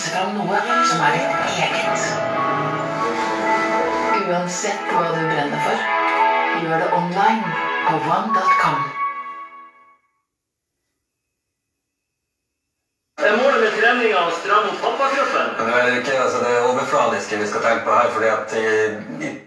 Fram noe som er ditt eget. Uansett hva du brenner for, gjør det online på one dot com. Er målet med treninga å stramme opp pappakroppen? Vel, ikke, altså, det er overfladiske vi skal tenke på her, fordi at eh,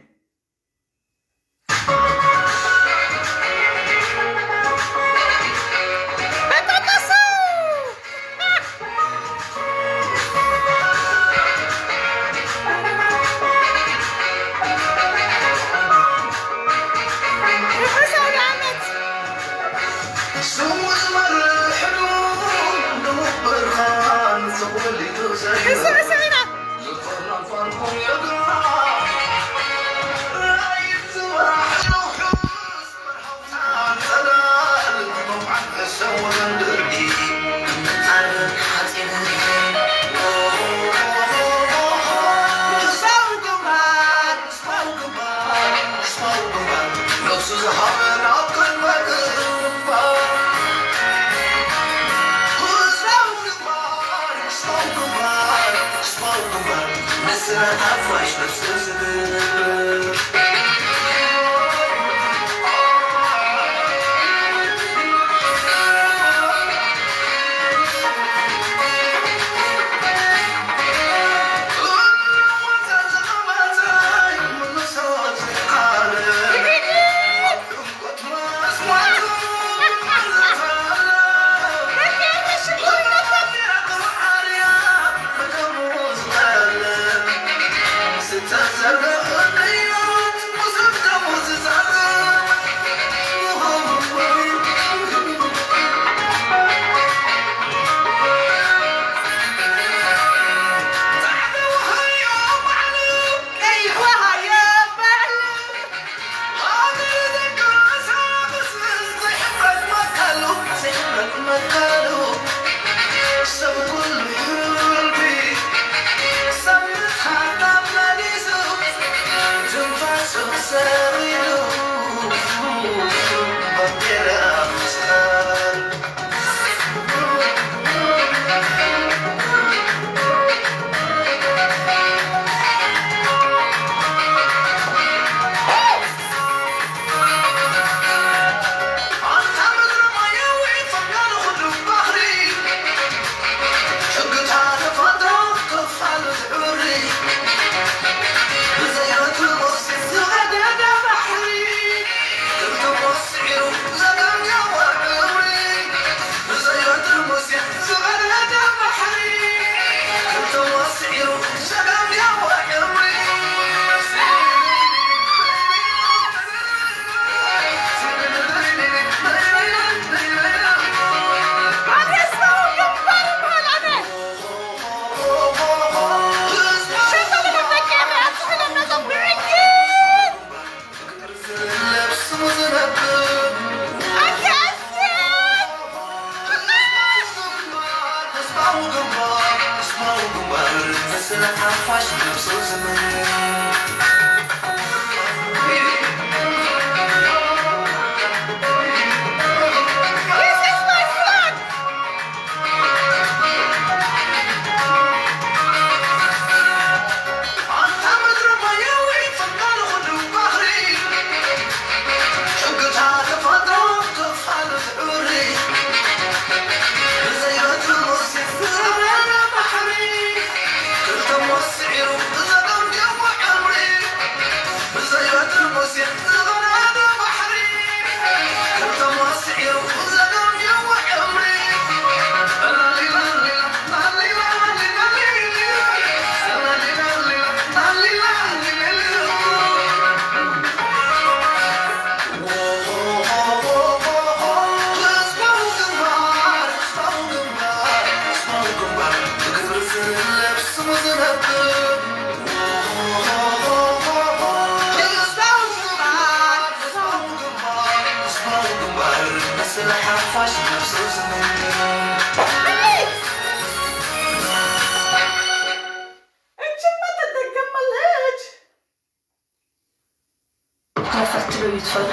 Pourquoi faire tout le lutte folle?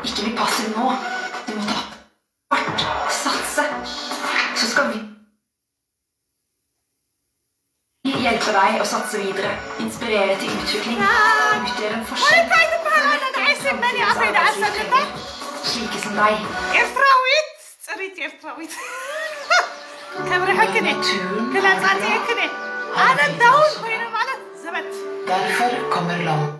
Il te lui passe le mot. Des mots. Satsa. Så skal vi Deg og satse videre. Inspirere til utvikling. Utgjør en forskjell. Slike som deg. Ertrawitt. Ertrawitt. Kamera hakene. Kula tsatse hakene. Ana daun koyna ማለት ዘበት. Derfor kommer land.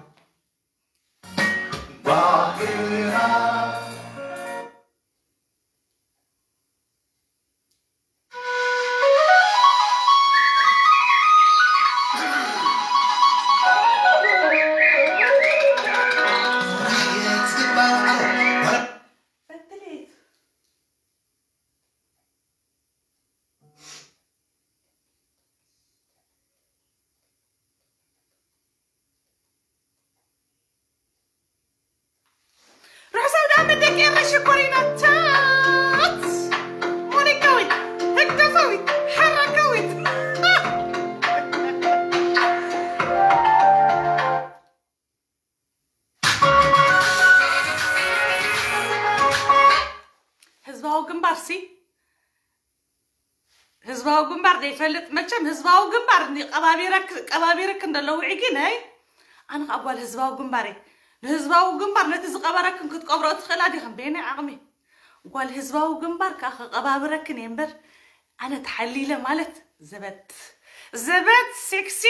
ርሑስ ኣውደ ዓመት ደቂ ኤረ ሽኮሪናታት። ሞኒካዊት፣ ህግደፋዊት፣ ሓራካዊት። ህዝባዊ ግንባር ሲ ህዝባዊ ግንባር ዘይፈልጥ መቸም ህዝባዊ ግንባር ቀባቢረክ ቀባቢርክ እንደሎ ውዒጊ ነይ ኣነ ከዓ ጓል ህዝባዊ ግንባር እየ። ንህዝባዊ ግንባር ነቲ ዝቀበረክን ክትቀብሮ ትኽእላ ዲኽን በየናይ ዓቕሚ? ጓል ህዝባዊ ግንባር ከዓ ከቀባብረክን እየ እምበር ኣነ ተሓሊለ ማለት ዘበት ዘበት ሴክሲ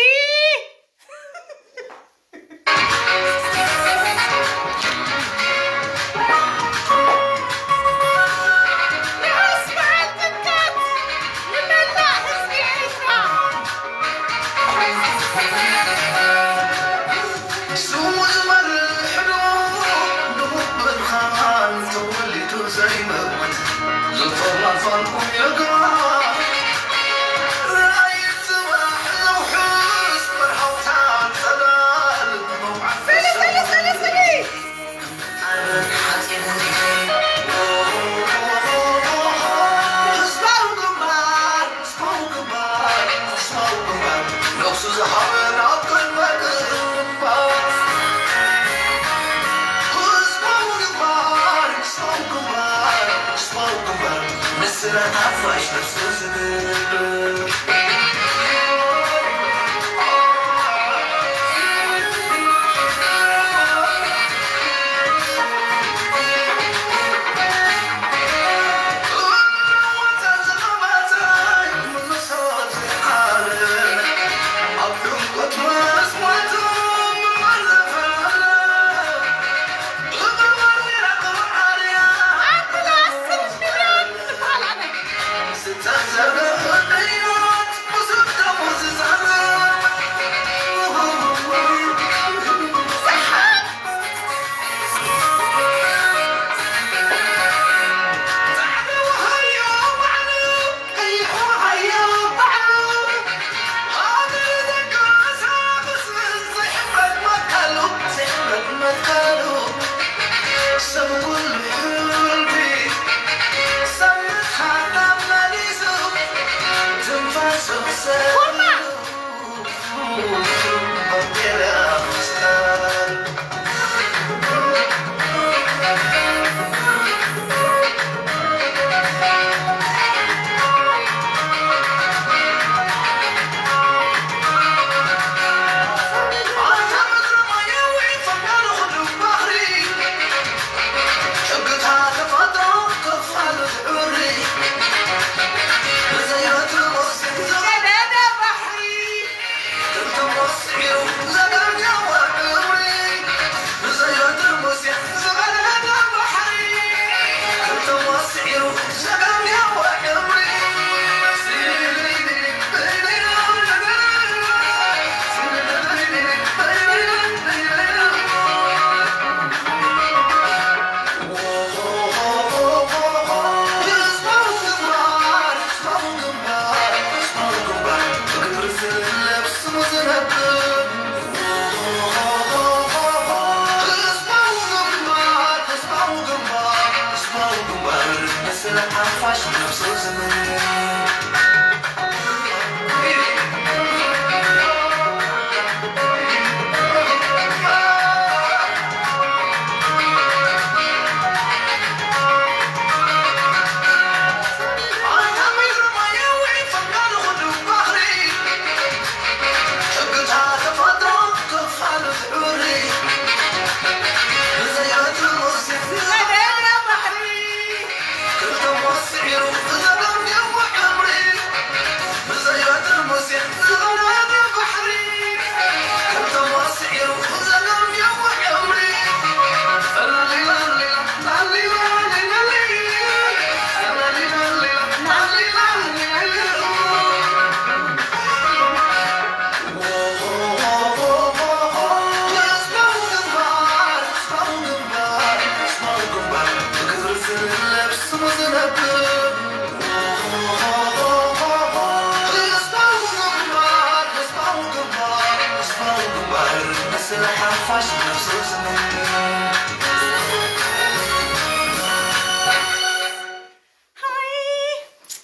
ሃይ፣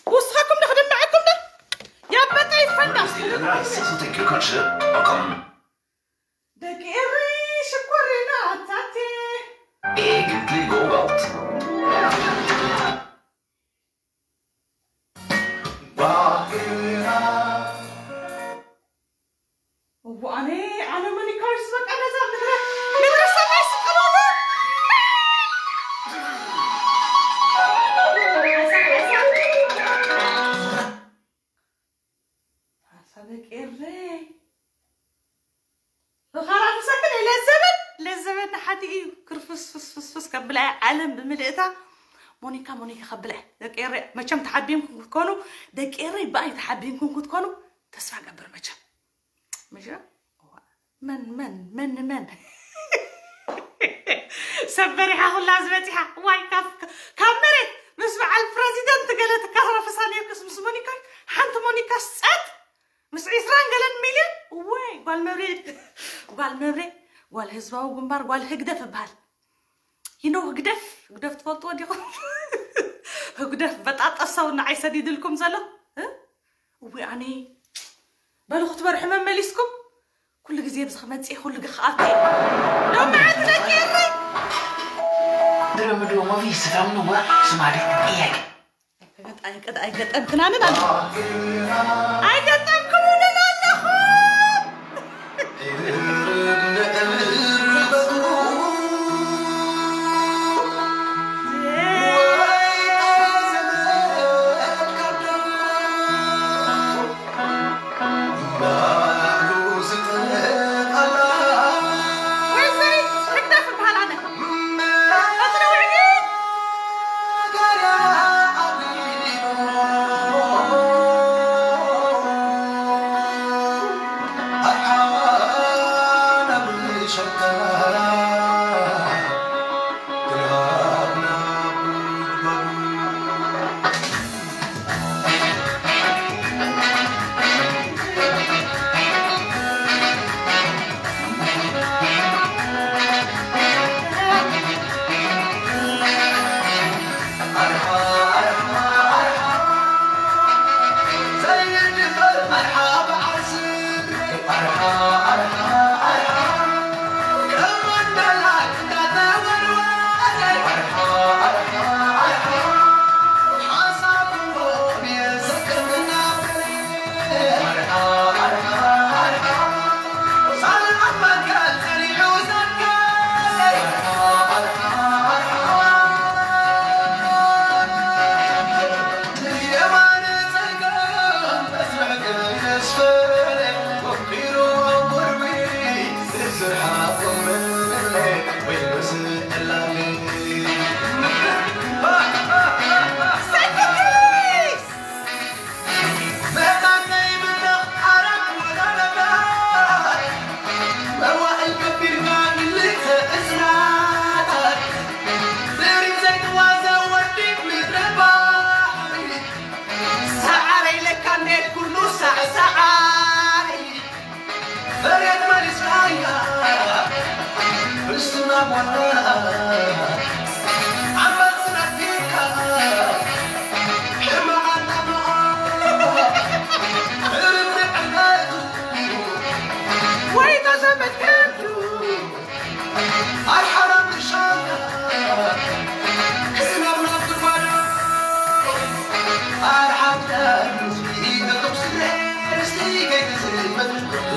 ውስኻኩም ዶ ክድምዐኩም ዶ? ያበጠ ይፈንዳ። Thank you, Kutcher. Welcome. ደቂ ኤሪ ሽኮሪና ኣታቴ። Eegentlich Gold. እዎ፣ ኣነ፣ ኣነ መኒካርስ በቃ ነዛ ምድረ፣ ምድረ ሰማይ ስቀሎና። ሓሳበ ቄሬ። ብኻራ ምሳክን ለዘበን፣ ለዘበን ንሓቲ እዩ። ክርፍስ ፍስ ፍስ ፍስ ከብላ ዓለም ብምልእታ። ሞኒካ፣ ሞኒካ ከብላ። ደቂ ኤሬ፣ መቸም ተሓቢምኩም ክትኮኑ፣ ደቂ ኤሬ፣ ብኣይ ተሓቢምኩም ክትኮኑ፣ ተስፋ ገብር መቸም። ምሽ? መን፣ መን፣ መን፣ መን? ሰብ በሪሓ ኩላ ዝበፂሓ። ዋይ፣ ካብ፣ ካብ መሬት ምስ በዓል ፕረዚደንት ገለ ትካረፍሳ ነይርክስ ምስ ሞኒካ፣ ሓንቲ ሞኒካ ጸጥ። ምስ ዒስራን ገለን ሚልዮን። ወይ፣ ጓል መብሬ፣ ጓል መብሬ፣ ጓል ህዝባዊ ግንባር፣ ጓል ህግደፍ እበሃል። You know ህግደፍ፣ ህግደፍ ትፈልጥዎ ዲኹም? ህግደፍ በጣጠሰው ንዓይ ሰዲድልኩም ዘሎ። እ? እዊ ኣነ፣ በሉ ክትበርሑ መመሊስኩም። ኩሉ ግዜ ብዚ ክመጽእ፣ ኩሉ ግዜ ክኣቱ። ሎሚ ዓዲ ደቂ ኤረይ። ድሮ ምድሮ ሞቪ ስፍራ ምንዋ ስማሪ ጥያቄ። ኣይገጠምክናንን ኣለ። ኣይገጠምክሙንን ኣለኹም። ወይዘሪት ህግደፍ እበሃል ኣነ። ሰዓረይ ለካ እንዴት ኩሉ ሳዕሳዓይ። መሬት መሊስካያ፣ ፍልስና ጓና፣ ዓመት ስነኪካ፣ ሕማቕ ኣጣብቓ፣ እርም ንዕቀቱ፣ ወይ ተዘመድ ከብዱ፣ ኣርሓና ምሻና፣ ክስናብና ጉድጓዱ፣ ኣርሓና ህዝቢ፣ ነቶም ስለ ርስቲ ከይትዝመት፣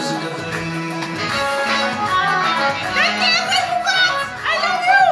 ዝገብር። ደቂ ኤረይ ምቁራት፣ I love you።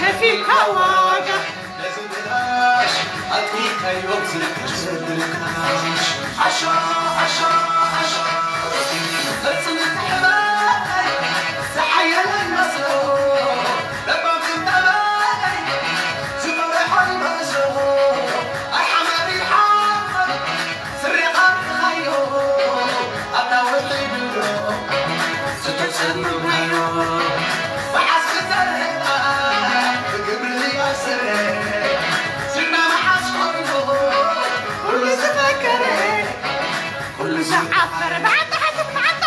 ከፊልካ ዋጋ ነዚ ብላሽ ኣጥቢቀዮ ዝልቀሽ ብርካሽ። ዓሾ ዓሾ ዓሾ ቅርጽ ምትሕባይ ዝሓየለ ይመስሎ ለባም ክምጠባይ ዝመረሖ ይመስሎ ኣይሓመድ ይሓመድ ስሪቓ ርኢኻዮ ኣታ ውሒዱ ዝተጸምምካዮ መዓስ ክዘርህና ብግብሪ ኣስረ ዝና መዓስ ኮይኑ ኩሉ ዝፈከረ ኩሉ ዝዓፈረ ብዓንታ ሓትት ብዓንታ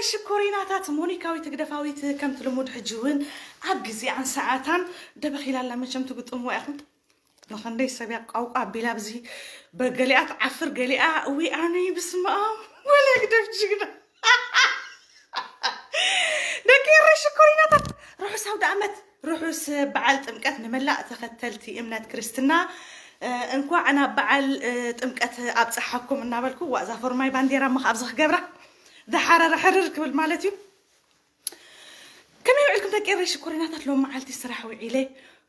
ሽኮሪናታት። ሞኒካዊት ህግደፋዊት ከምቲ ልሙድ ሕጂ እውን ኣብ ግዜኣን ሰዓታን ደበኺላ ኣላ። መቸም ትግጥምዋ ኢኹም። ንኸንደይ ሰብ ያቋውቋ ኣቢላ ኣብዚ በገሊኣ ትዓፍር ገሊኣ እዊ ኣነይ ብስመኣም ወለ ግደፍ ጅግና። ደቂ ኤረይ ሽኮሪናታት ርሑስ ኣውደ ኣመት ርሑስ በዓል ጥምቀት ንመላእ ተኸተልቲ እምነት ክርስትና። እንኳዕ ናብ በዓል ጥምቀት ኣብፀሓኩም እናበልኩ ዋእዛ ፎርማይ ባንዴራ ሞ ኣብዚ ክገብራ ዝሓረረ ሕርር ክብል ማለት እዩ። ከመይ ውዒልኩም ደቂ ኤረይ ሽኮሪናታት? ሎም መዓልቲ ስራሕ ውዒለ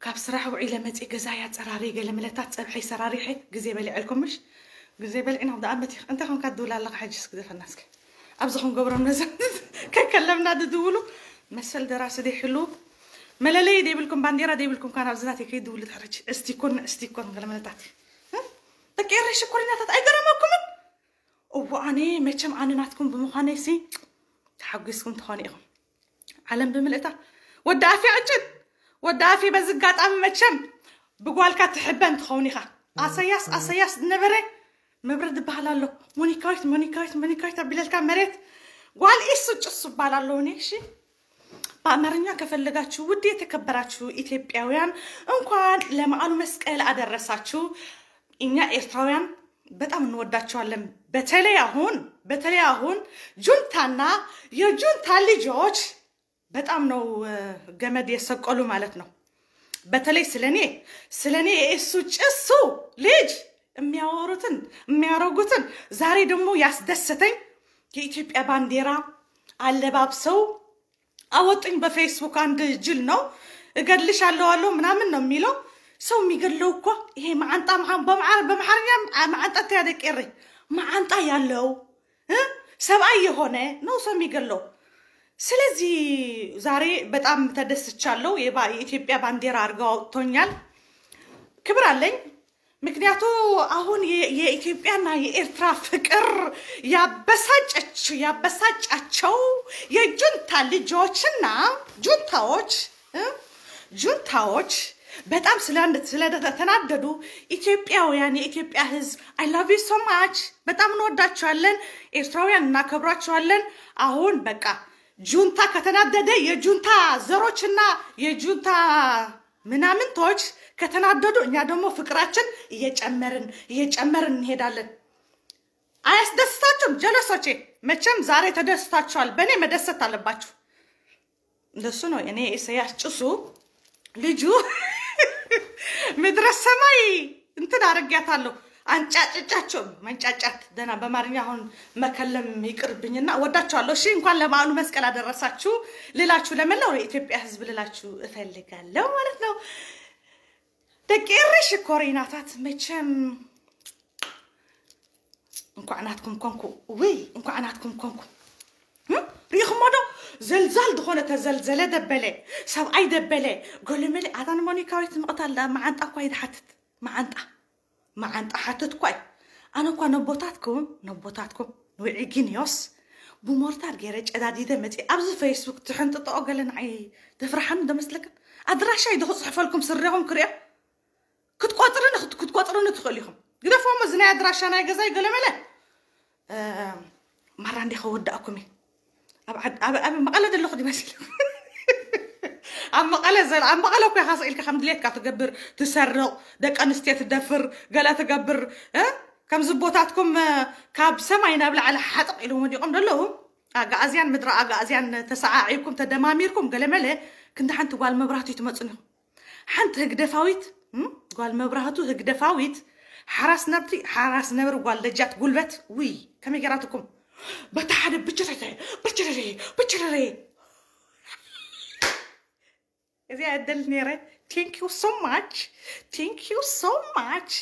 ካብ ስራሕ ውዒለ መፂ ገዛ ያፀራሪ ገለ ምለታት ፀብሐይ ሰራሪሐ ግዜ በሊዐልኩም ምሽ ግዜ በሊዕና ኣብዳ ኣመት እንታይ ከምካ ትድውል ኣለካ? ሕጅስ ግደፈና እስኪ ኣብዚ ክንገብሮም ነዛ ከከለምና ድድውሉ መሰል ደራሲ ደይሕሉ መለለይ ደይብልኩም ባንዴራ ደይብልኩም ካን ኣብዚ ናተይ ከይድውሉ ትሕረጅ እስቲኮን እስቲኮን ገለ ምለታት ደቂ ኤረይ ሽኮሪናታት ኣይገረመኩምን? እዎ ኣነ መቸም ኣነ ናትኩም ብምዃነይ ሲ ተሓጒስኩም ትኾኑ ኢኹም። ዓለም ብምልእታ ወዲ ኣፌ ዕጭን ወዲ ኣፌ በዚ ኣጋጣሚ መቸም ብጓልካ ትሕበን ትኸውን ኢኻ። ኣሰያስ ኣሰያስ ዝነበረ መብረድ ዝበሃል ኣሎ። ሞኒካዊት ሞኒካዊት ሞኒካዊት ኣቢለልካ መሬት ጓል ኢሱ ጭሱ ይባል ኣለውኒ እሺ። በአማርኛ ከፈለጋችሁ ውድ የተከበራችሁ ኢትዮጵያውያን እንኳን ለመዓሉ መስቀል አደረሳችሁ። እኛ ኤርትራውያን በጣም እንወዳችኋለን። በተለይ አሁን በተለይ አሁን ጁንታና የጁንታ ልጆች በጣም ነው ገመድ የሰቀሉ ማለት ነው። በተለይ ስለኔ ስለኔ የእሱ ጭሱ ልጅ የሚያወሩትን የሚያረጉትን ዛሬ ደግሞ ያስደሰተኝ የኢትዮጵያ ባንዲራ አለባብሰው አወጡኝ በፌስቡክ። አንድ ጅል ነው እገድልሽ አለው አለው ምናምን ነው የሚለው። ሰው የሚገድለው እኮ ይሄ መዓንጣ በመዓር በመሓርኛ መዓንጣ ተያደቀረ መዓንጣ ያለው ሰብአይ የሆነ ነው ሰው የሚገድለው። ስለዚህ ዛሬ በጣም ተደስቻለሁ። የኢትዮጵያ ባንዲራ አድርገው አውጥቶኛል። ክብር አለኝ። ምክንያቱ አሁን የኢትዮጵያና የኤርትራ ፍቅር ያበሳጨች ያበሳጫቸው የጁንታ ልጆችና ጁንታዎች ጁንታዎች በጣም ስለተናደዱ ኢትዮጵያውያን የኢትዮጵያ ህዝብ I love you so much በጣም እንወዳችኋለን። ኤርትራውያን እናከብሯችኋለን። አሁን በቃ ጁንታ ከተናደደ የጁንታ ዘሮችና የጁንታ ምናምንቶች ከተናደዱ እኛ ደግሞ ፍቅራችን እየጨመርን እየጨመርን እንሄዳለን። አያስደስታችሁም ጀለሶቼ? መቼም ዛሬ ተደስታችኋል። በእኔ መደሰት አለባችሁ። እንደሱ ነው። እኔ ኢሳያስ ጭሱ ልጁ ምድረ ሰማይ እንትን አረጊያታለሁ። አንጫጭጫቸው መንጫጫት ደና በአማርኛ አሁን መከለም ይቅርብኝና እወዳቸዋለሁ። እሺ እንኳን ለበዓሉ መስቀል አደረሳችሁ ልላችሁ ለመላው የኢትዮጵያ ሕዝብ ልላችሁ እፈልጋለሁ ማለት ነው። ደቂ ኤሪ ሽኮሪናታት መቼም እንኳዕ ናትኩም ኮንኩ። ውይ እንኳዕ ናትኩም ኮንኩ። ሪኢኹሞ ዶ? ዘልዛል ዝኾነ ተዘልዘለ ደበለ፣ ሰብኣይ ደበለ፣ ገለመለ። ኣታ ንሞኒካዊት ምቕታል ዳ መዓንጣ እኳ ይድሓትት። መዓንጣ መዓንጣ ሓትት እኳ እዩ። ኣነ እኳ ነቦታትኩም ነቦታትኩም ንውዒጊንዮስ ብሞርታር ገይረ ጨዳዲደ መፂ ኣብዚ ፌስቡክ ትሕንጥጠኦ ገለ ንዓይ ደፍርሓኒ ዶ መስለክን? ኣድራሻይ ዶ ክፅሕፈልኩም ስሪኹም ክሪኦ ክትቆፅርኒ ክትቆፅርኒ ትኽእል ኢኹም። ግደፎሞ እዚ ናይ ኣድራሻ ናይ ገዛይ ገለመለ ማራ እንዴ ከወዳእኩም እየ። ኣብ መቐለ ዘለኹ ዲመሲልኩም ኣብ መቐለ ዘ ኣብ መቐለ እኮ ኢኻ ስኢልካ ከም ድሌትካ ትገብር ትሰርቕ ደቂ ኣንስትዮ ትደፍር ገለ ትገብር። ከምዚ ቦታትኩም ካብ ሰማይ ናብ ላዕሊ ሓጥቕ ኢሎም ወዲቖም ዘለዉ ኣጋእዝያን ምድሪ ኣጋእዝያን ተሰዓዒብኩም ተደማሚርኩም ገለመለ ክንዲ ሓንቲ ጓል መብራህቱ ትመፁን ኢኹም። ሓንቲ ህግደፋዊት ጓል መብራህቱ ህግደፋዊት ሓራስ ነብሪ ሓራስ ነብሪ ጓል ደጃት ጉልበት ውይ ከመይ ገራትኩም በታ ሓደ ብችረረ ብችረረ ብችረረ እዚኣ እደል ነረ። Thank you so much, thank you so much።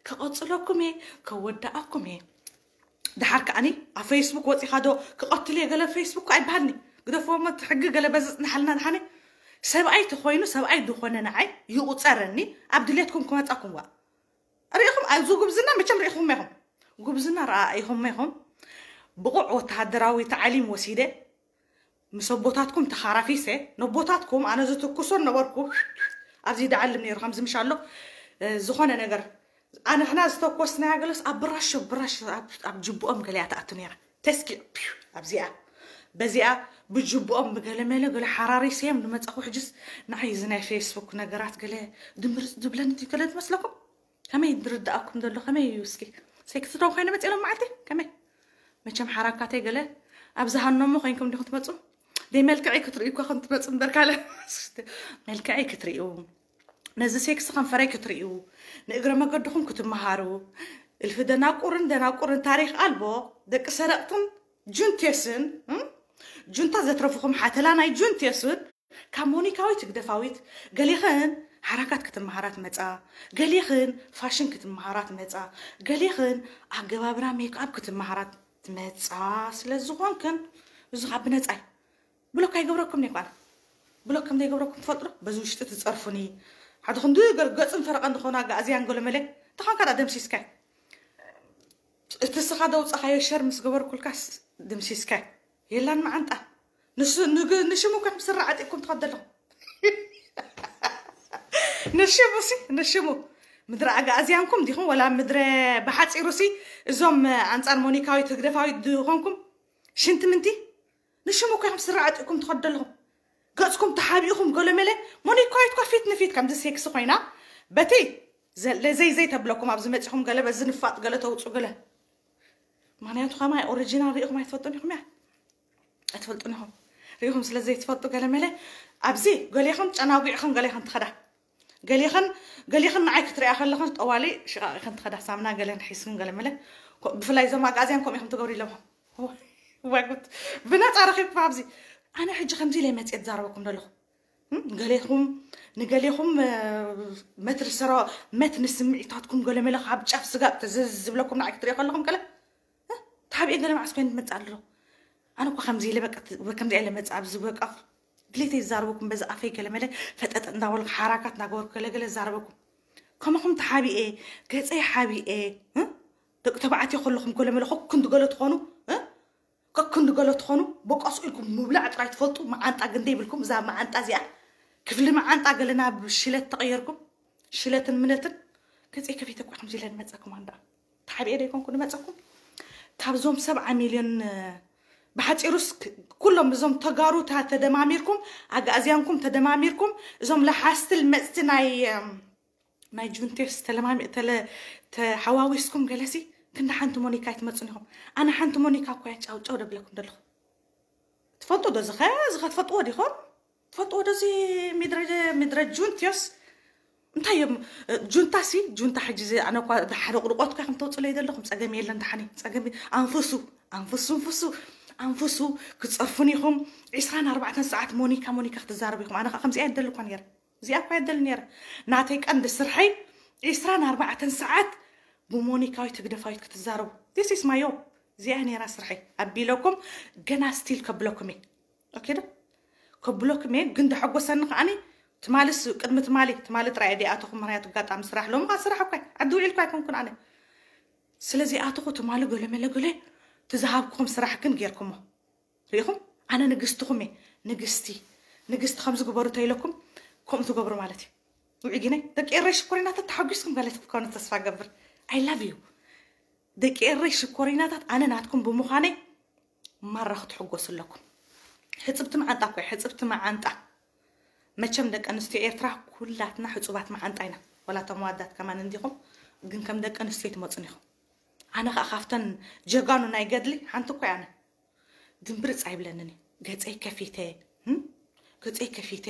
ከቐፅለኩም እየ ከወዳኣኩም እየ። ድሓር ከዓኒ ኣብ ፌስቡክ ወፂኻ ዶ ክቐትል እየ ገለ ፌስቡክ ኣይበሃልኒ። ግደፍዎ እሞ እቲ ሕጊ ገለ በዚ ፅንሓልና ድሓኒ። ሰብኣይ ተኾይኑ ሰብኣይ ድኾነ ንዓይ ይቑፀረኒ ኣብ ድሌትኩም ክመፃኩም ዋ ሪኢኹም ኣብዚ ጉብዝና መቸም ሪኢኹም ኢኹም ጉብዝና ረኣ ኢኹም ኢኹም ብቑዕ ወተሃደራዊ ተዓሊም ወሲደ ምስ ኣቦታትኩም ተኻራፊሰ ነቦታትኩም ኣነ ዝትኩሶ ነበርኩ ኣብዚ ደዓልም ነይሩ ከምዚ ምሽ ኣሎ ዝኾነ ነገር ኣንሕና ዝተኮስናያ ገለስ ኣብ ብራሾ ብራሾ ኣብ ጅብኦም ገለያ ትኣቱ ነይራ ተስኪዕ ኣብዚኣ በዚኣ ብጅብኦም ብገለመለ ገለ ሓራሪሰዮም ንመፃኹ ሕጅስ ንዓይ እዚ ናይ ፌስቡክ ነገራት ገለ ድምርፅ ዝብለኒ ገለ ትመስለኩም ከመይ ድርዳኣኩም ዘሎ ከመይ እዩ እስኪ ሴክስ ዶ ኮይነ መፅእ ሎም መዓልቲ ከመይ መቸም ሓራካተይ ገለ ኣብዚ ሃኖሞ ኮይንኩም ዲኹም ትመፁ ደይ መልክዐይ ክትርእዩ እኳ ከም ትመፁ እምበር ካለ መልክዐይ ክትርእዩ ነዚ ሴክስ ከንፈረይ ክትርእዩ ንእግረ መገድኹም ክትመሃሩ እልፊ ደናቁርን ደናቁርን ታሪክ ኣልቦ ደቂ ሰረቅትን ጁንቴስን ጁንታ ዘትረፍኹም ሓተላ ናይ ጁንቴስን ካብ ሞኒካዊት ህግደፋዊት ገሌኽን ሓራካት ክትመሃራ ትመጻ፣ ገሌኽን ፋሽን ክትመሃራ ትመጻ፣ ገሌኽን ኣገባብራ ሜክኣፕ ክትመሃራ ትመጻ ስለ ዝኾንክን እዚ ኻብ ብነጻይ ብሎክ ኣይገብረኩም ነይ ኳነ ብሎክ ከም ዘይገብረኩም ትፈልጡ ዶ? በዚ ውሽጢ ትጸርፉኒ ሓደ ክንዲ ገጽን ፈረቐን ዝኾነ ኣጋእዝያን ገለመለ ተኾንካ ዳ ደምሲስካይ እቲ ስኻ ደውጻኻዮ ሸር ምስ ገበርኩልካስ ድምሲስካይ የላን መዓንጣ ንሱ ንግ- ንሽሙ ከም ስራ ዓጢቅኩም ትኸደለኹም ንሽሙ ሲ ንሽሙ ምድረ ኣጋእዝያንኩም ዲኹም ወላ ምድረ ብሓፂሩ ሲ እዞም ኣንፃር ሞኒካዊት ህግደፋዊት ዝኾንኩም ሽንቲ ምንቲ ንሽሙ እኮ ኢኹም ስራ ዓጢቅኩም ትኸደለኹም ገፅኩም ተሓቢእኹም ገለመለ ሞኒካዊት እኳ ፊት ንፊት ከምዚ ሴክስ ኮይና በቲ ዘይ ዘይ ተብለኩም ኣብዚ መፂኹም ገለ በዚ ንፋጥ ገለ ተውፁ ገለ ምክንያቱ ከማይ ኦሪጂናል ሪኢኹም ኣይትፈልጡን ኢኹም እያ ኣይትፈልጡን ኢኹም ሪኢኹም ስለ ዘይትፈልጡ ገለ መለ ኣብዚ ገሌኹም ጨናጒዕኹም ገሌኹም ትኸዳ ገሌኽን ገሌኽን ንዓይ ክትሪኣ ከለኽን ጠዋሊ ሽቓቕ ኢኽን ትኸዳ ሳምና ገለን ሒዝክን ገለ መለ ብፍላይ እዞም ኣጋዝያን ከምኡ ኢኹም ትገብሩ ኢለኹም ዋጉት ብነፃ ረኺብኩም ኣብዚ ኣነ ሕጂ ከምዚ ኢለ መፅየ ትዛረበኩም ዘለኹ ገሌኹም ንገሌኹም መትሪ ሰሮ መት ንስምዒታትኩም ገለ መለ ካብ ጫፍ ስጋብ ተዘዝ ዝብለኩም ንዓይ ክትሪኦ ከለኹም ገለ ታብኤ ገለ መዓስ ኮይኑ ትመፅእ ኣሎ ኣነ እኳ ከምዚ ኢለ በቃ ከምዚ ኢለ መፅእ ኣብዚ በቃ ድሌተይ ዝዛረበኩም በዚ ኣፈይ ገለ መለ ፈጠጠ እንዳበልኩ ሓራካት እንዳገበርኩ ገለ ገለ ዝዛረበኩም ከማኹም ተሓቢኤ ገፀይ ሓቢኤ ደቂ ተባዕትዮ ከለኹም ገለ መለ ኮኩን ድገለ ትኾኑ ከክንዲ ገለ ትኾኑ በቃ ስኢልኩም ምብላዕ ጥራይ ትፈልጡ መዓንጣ ግን ደይብልኩም እዛ መዓንጣ እዚኣ ክፍሊ መዓንጣ ገለ ናብ ሽለት ተቐየርኩም ሽለትን ምነትን ገፀይ ከፊተ እኳ ከምዚ ኢለ ንመፀኩም ኣንዳ ተሓቢኤ ደይኮንኩ ንመፀኩም ካብዞም ሰብዓ ሚልዮን ብሓፂሩስ ኩሎም እዞም ተጋሩ ተደማሚርኩም ኣጋእዝያንኩም ተደማሚርኩም እዞም ለሓስቲ ልመፅቲ ናይ ናይ ጁንቴስ ተለማሚ ተለ ተሓዋዊስኩም ገለሲ ክንዲ ሓንቲ ሞኒካ ኣይትመፁን ኢኹም ኣነ ሓንቲ ሞኒካ እኮ እያ ጫው ጫው ደብለኩም ደለኹ ትፈልጡ ዶ ዝኸ ዝኸ ትፈልጥዎ ዲኹም ትፈልጥዎ ዶ እዚ ምድረ ምድረ ጁንቴስ እንታይ እዮም እ፣ ጁንታ ሲ ጁንታ ሕጂ እዚ ኣነ እኳ ሓደ ቁርቆት እኳ ከም ተውፅለይ ዘለኹም ጸገም የለን። ደሓኒ ጸገም የ- ኣንፍሱ ኣንፍሱ ኣንፍሱ ኣንፍሱ ኣንፍሱ። ክፀርፉን ኢኹም። ዕስራን ኣርባዕተን ሰዓት ሞኒካ ሞኒካ ክትዛረቡ ኢኹም። ኣነ ከዓ ከምዚኣ የደሊ እኳ ነይረ። እዚኣ እኳ የደሊ ነይረ። ናተይ ቀንዲ ስርሐይ ዕስራን ኣርባዕተን ሰዓት ብሞኒካዊት ህግደፋዊት ክትዛረቡ። This is my job። እዚኣ ነይራ ስርሐይ ኣቢለኩም። ገና ስቲል ከብለኩም እየ። ኦኬ ዶ? ከብለኩም እየ። ግን ደሐጎሰኒ ከዓኒ ትማልስ ቅድሚ ትማሊ ትማሊ ጥራይ እየ ደይኣተኹም። ምክንያቱ ኣጋጣሚ ስራሕ ሎሚ ከዓ ስራሕ እኳ ዓዲ ውዒልኩ ኣይኮንኩን ኣነ። ስለዚ ኣተኹ ትማሊ ገለ መለ ገለ ትዝሃብኩኹም ስራሕ ግን ጌርኩሞ። ርኢኹም? ኣነ ንግስትኹም እየ። ንግስቲ ንግስቲ ከምዚ ግበሩ ተይለኩም ከምኡ ትገብሩ ማለት እዩ። ውዒ ግነ ደቂ ኤረይ ሽኮሪናታት ተሓጒስኩም ገለ ትኮኑ ተስፋ ገብር። I love you። ደቂ ኤረይ ሽኮሪናታት ኣነ ናትኩም ብምዃነይ ማራ ክትሕጎሱ ኣለኩም። ሕፅብቲ መዓንጣ እኮ ሕፅብቲ መዓንጣ። መቸም ደቂ ኣንስትዮ ኤርትራ ኩላትና ሕፁባት መዓንጣ ኢና። ወላ እቶም ዋዳት ከማን እንዲኹም ግን ከም ደቂ ኣንስትዮ ትመፁን ኢኹም። ኣነ ከዓ ካብተን ጀጋኑ ናይ ገድሊ ሓንቲ እኮ ኣነ ድንብርፅ ኣይብለንን እዩ። ገፀይ ከፊተ እም? ገፀይ ከፊተ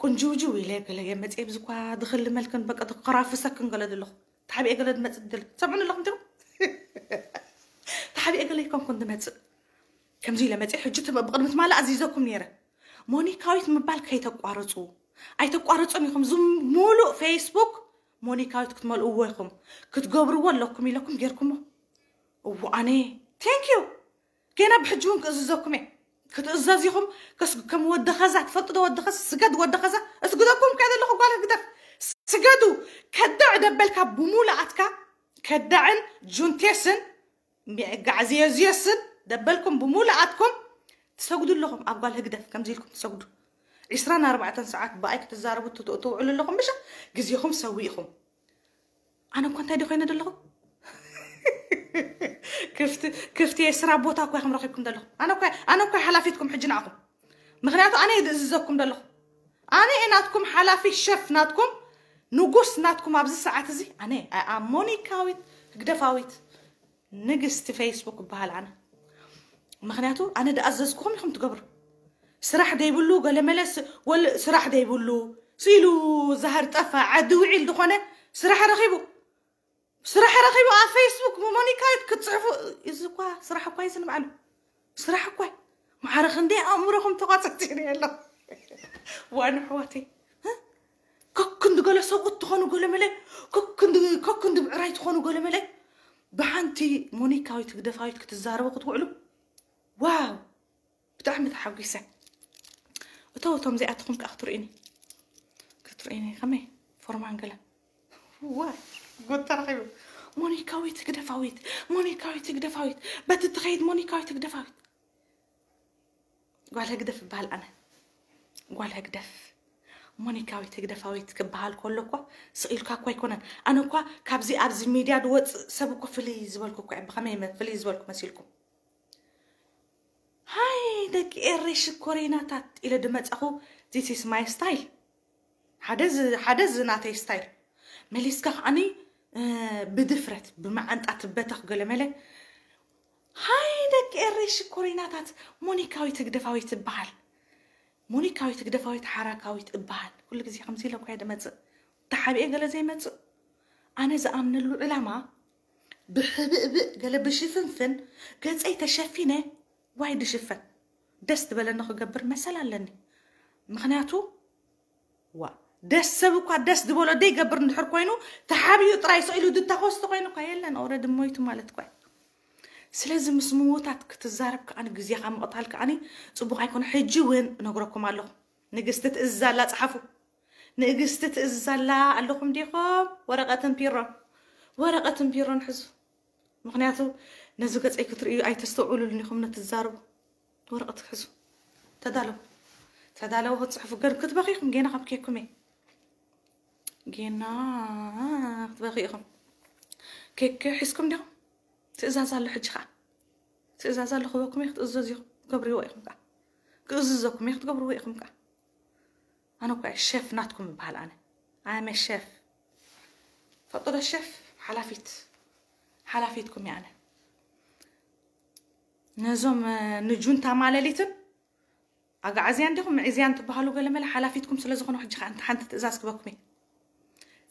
ቁንጅውጅው ኢለ ገለ የመፅየ ብዝኳ ድኽሊ መልክን በቃ ድከራፍሰክን ገለ ዘለኹ ተሓቢኤ ገለ ድመፅእ ድል ሰምዑኒ ኣለኹም ትም ተሓቢኤ ገለ ይኮንኩን ድመፅእ ከምዚ ኢለ መፅእ ሕጂ ትም- ብቅድሚ ትማሊ ኣዚዘኩም ነይረ። ሞኒካዊት ምባል ከይተቋርፁ ኣይተቋርፁን ኢኹም። ዝም ሙሉእ ፌስቡክ ሞኒካዊት ክትመልእዎ ኢኹም ክትገብርዎ ኣለኩም ኢለኩም ጌርኩሞ። እዎ ኣነ thank you። ገና ብሕጂ እውን ክእዝዘኩም እየ። ክትእዘዝ ኢኹም። ከስ- ከም ወዲ ኸዛ ትፈልጡ ዶ? ወዲ ኸዛ ስገድ፣ ወዲ ኸዛ እስግደኩም ከ ዘለኹ ጓል ህግደፍ ስገዱ። ከዳዕ ደበልካ ብሙሉኣትካ ከዳዕን ጁንቴስን ሚዕጋዕዝየዝየስን ደበልኩም ብሙሉኣትኩም ትሰግዱ ኣለኹም። ኣብ ጓል ህግደፍ ከምዚ ኢልኩም ትሰግዱ። ዕስራን ኣርባዕተን ሰዓት ብኣይ ክትዛረቡ ትት- ትውዕሉ ኣለኹም። ምሽ ግዜኹም ሰዊእኹም። ኣነ እኳ እንታይ ደ ኮይነ ዘለኹ? ክፍቲ ክፍቲ የስራ ቦታ እኳ ከም ረኺብኩም ዘለኹ። ኣነ እኳ ኣነ እኳ ሓላፊትኩም ሕጂ ንዓኹም። ምክንያቱ ኣነ እየ ዝእዝዘኩም ዘለኹ። ኣነ እየ ናትኩም ሓላፊ ሸፍ ናትኩም ንጉስ ናትኩም ኣብዚ ሰዓት እዚ ኣነ እየ። ኣይ ኣም ሞኒካዊት ህግደፋዊት ንግስቲ ፌስቡክ እበሃል ኣነ። ምክንያቱ ኣነ ድኣዘዝኩኹም ኢኹም ትገብሩ። ስራሕ ደይብሉ ገለመለ ስ- ወል ስራሕ ደይብሉ ስኢሉ ዛህር ጠፋ ዓዲ ውዒል ዝኾነ ስራሕ ረኺቡ ስራሕ ረኺቡ ኣብ ፌስቡክ ብሞኒካዊት ክትፅሕፉ እዚ እኳ ስራሕ እኳ እዩ ዝንባዕሉ ስራሕ እኳ እዩ። ማዕረ ክንደይ ኣእምሮኹም ተቋፀፂሩ ኣሎ ዋን ኣሕዋተይ። እ? ከክንዲ ገለ ሰብኡት ትኾኑ ገለመለ ከክንዲ ከክንዲ ብዕራይ ትኾኑ ገለመለ ብሓንቲ ሞኒካዊት ህግደፋዊት ክትዛረቡ ክትውዕሉ ዋው ብጣዕሚ ተሓጒሰ። እቶ እቶም እዚኣትኹም ከዓ ክትርእዩኒ ክትርእዩኒ ከመይ ፎርማን ገለ ዋ ጉድ ተረኺቡ። ሞኒካዊት ህግደፋዊት ሞኒካዊት ህግደፋዊት በቲ ትኸይድ ሞኒካዊት ህግደፋዊት ጓል ህግደፍ እበሃል ኣነ ጓል ህግደፍ ሞኒካዊት ህግደፋዊት ክበሃል ከሎ እኳ ስቕ ኢልካ እኳ ኣይኮነን። ኣነ እኳ ካብዚ ኣብዚ ሚድያ ዝወፅእ ሰብ እኮ ፍልይ ዝበልኩ እኳ እየ። ብኸመይ መ- ፍልይ ዝበልኩ መሲልኩም? ሃይ ደቂ ኤረይ ሽኮሪናታት ኢለ ድመፃኹ this is my style። ሓደ ዝ- ሓደ ዝ ናተይ ስታይል መሊስካ ከዓኒ እ፣ ብድፍረት ብመዓንጣ ትበተኽ ገለመለ። ሃይ ደቂ ኤረይ ሽኮሪናታት ሞኒካዊት ህግደፋዊት ትበሃል። ሞኒካዊት ህግደፋዊት ሓራካዊት እበሃል። ኩሉ ግዜ ከምዚ ኢለ እኳ እየ ድመፅእ። ተሓቢኤ ገለ ዘይመፅእ። ኣነ ዝኣምነሉ ዕላማ ብሕብእብእ ገለ ብሽፍንፍን ገፀይ ተሸፊነ ዋይ ድሽፈን ደስ ዝበለኒ ክገብር መሰል ኣለኒ። ምክንያቱ ዋ ደስ ሰብ እኳ ደስ ዝበሎ ደይገብር እንድሕር ኮይኑ ተሓቢኡ ጥራይ ስኢሉ ድታኮስ ተኮይኑ እኳ የለን ኦረዲ ሞይቱ ማለት እኳ እዩ። ስለዚ ምስ ምዉታት ክትዛረብ ከዓኒ ግዜኻ ምቕታል ከዓኒ ፅቡቕ ኣይኮነ። ሕጂ እውን እነግረኩም ኣለኹ። ንግስቲ ትእዝዝ ኣላ፣ ፀሓፉ። ንእግስቲ ትእዝዝ ኣላ ኣለኹም ዲኹም? ወረቐትን ፒሮን ወረቐትን ፒሮን ሕዙ። ምክንያቱ ነዚ ገፀይ ክትርእዩ ኣይተስተውዕሉሉን ኢኹም ነቲ ትዛረቡ። ወረቐት ክትሕዙ ተዳለዉ። ተዳለዉ ክትፅሕፉ ገር ክትበኺ ኢኹም ጌና ካብ ኬኩም እየ። ጌና ክትበኺ ኢኹም። ኬክ ሒዝኩም ዲኹም? ትእዛዝ ኣሎ ሕጂ ከዓ። ትእዛዝ ኣሎ ክበኩም እየ ክትእዘዙ ኢኹም። ገብርዎ ኢኹም ከዓ። ክእዝዘኩም እየ ክትገብርዎ ኢኹም ከዓ። ኣነ እኳ እየ ሸፍ ናትኩም እበሃል ኣነ። ኣነ ሸፍ። ፈጦ ዶ ሸፍ ሓላፊት ሓላፊትኩም እየ ኣነ። ነዞም እ፣ ንጁንታ ማለሊትን ኣጋዓዝያን ዲኹም ምዕዝያን ትበሃሉ ገለመለ ሓላፊትኩም ስለ ዝኾኑ ሕጂ ከዓ እንተ ሓንቲ ትእዛዝ ክበኩም እየ።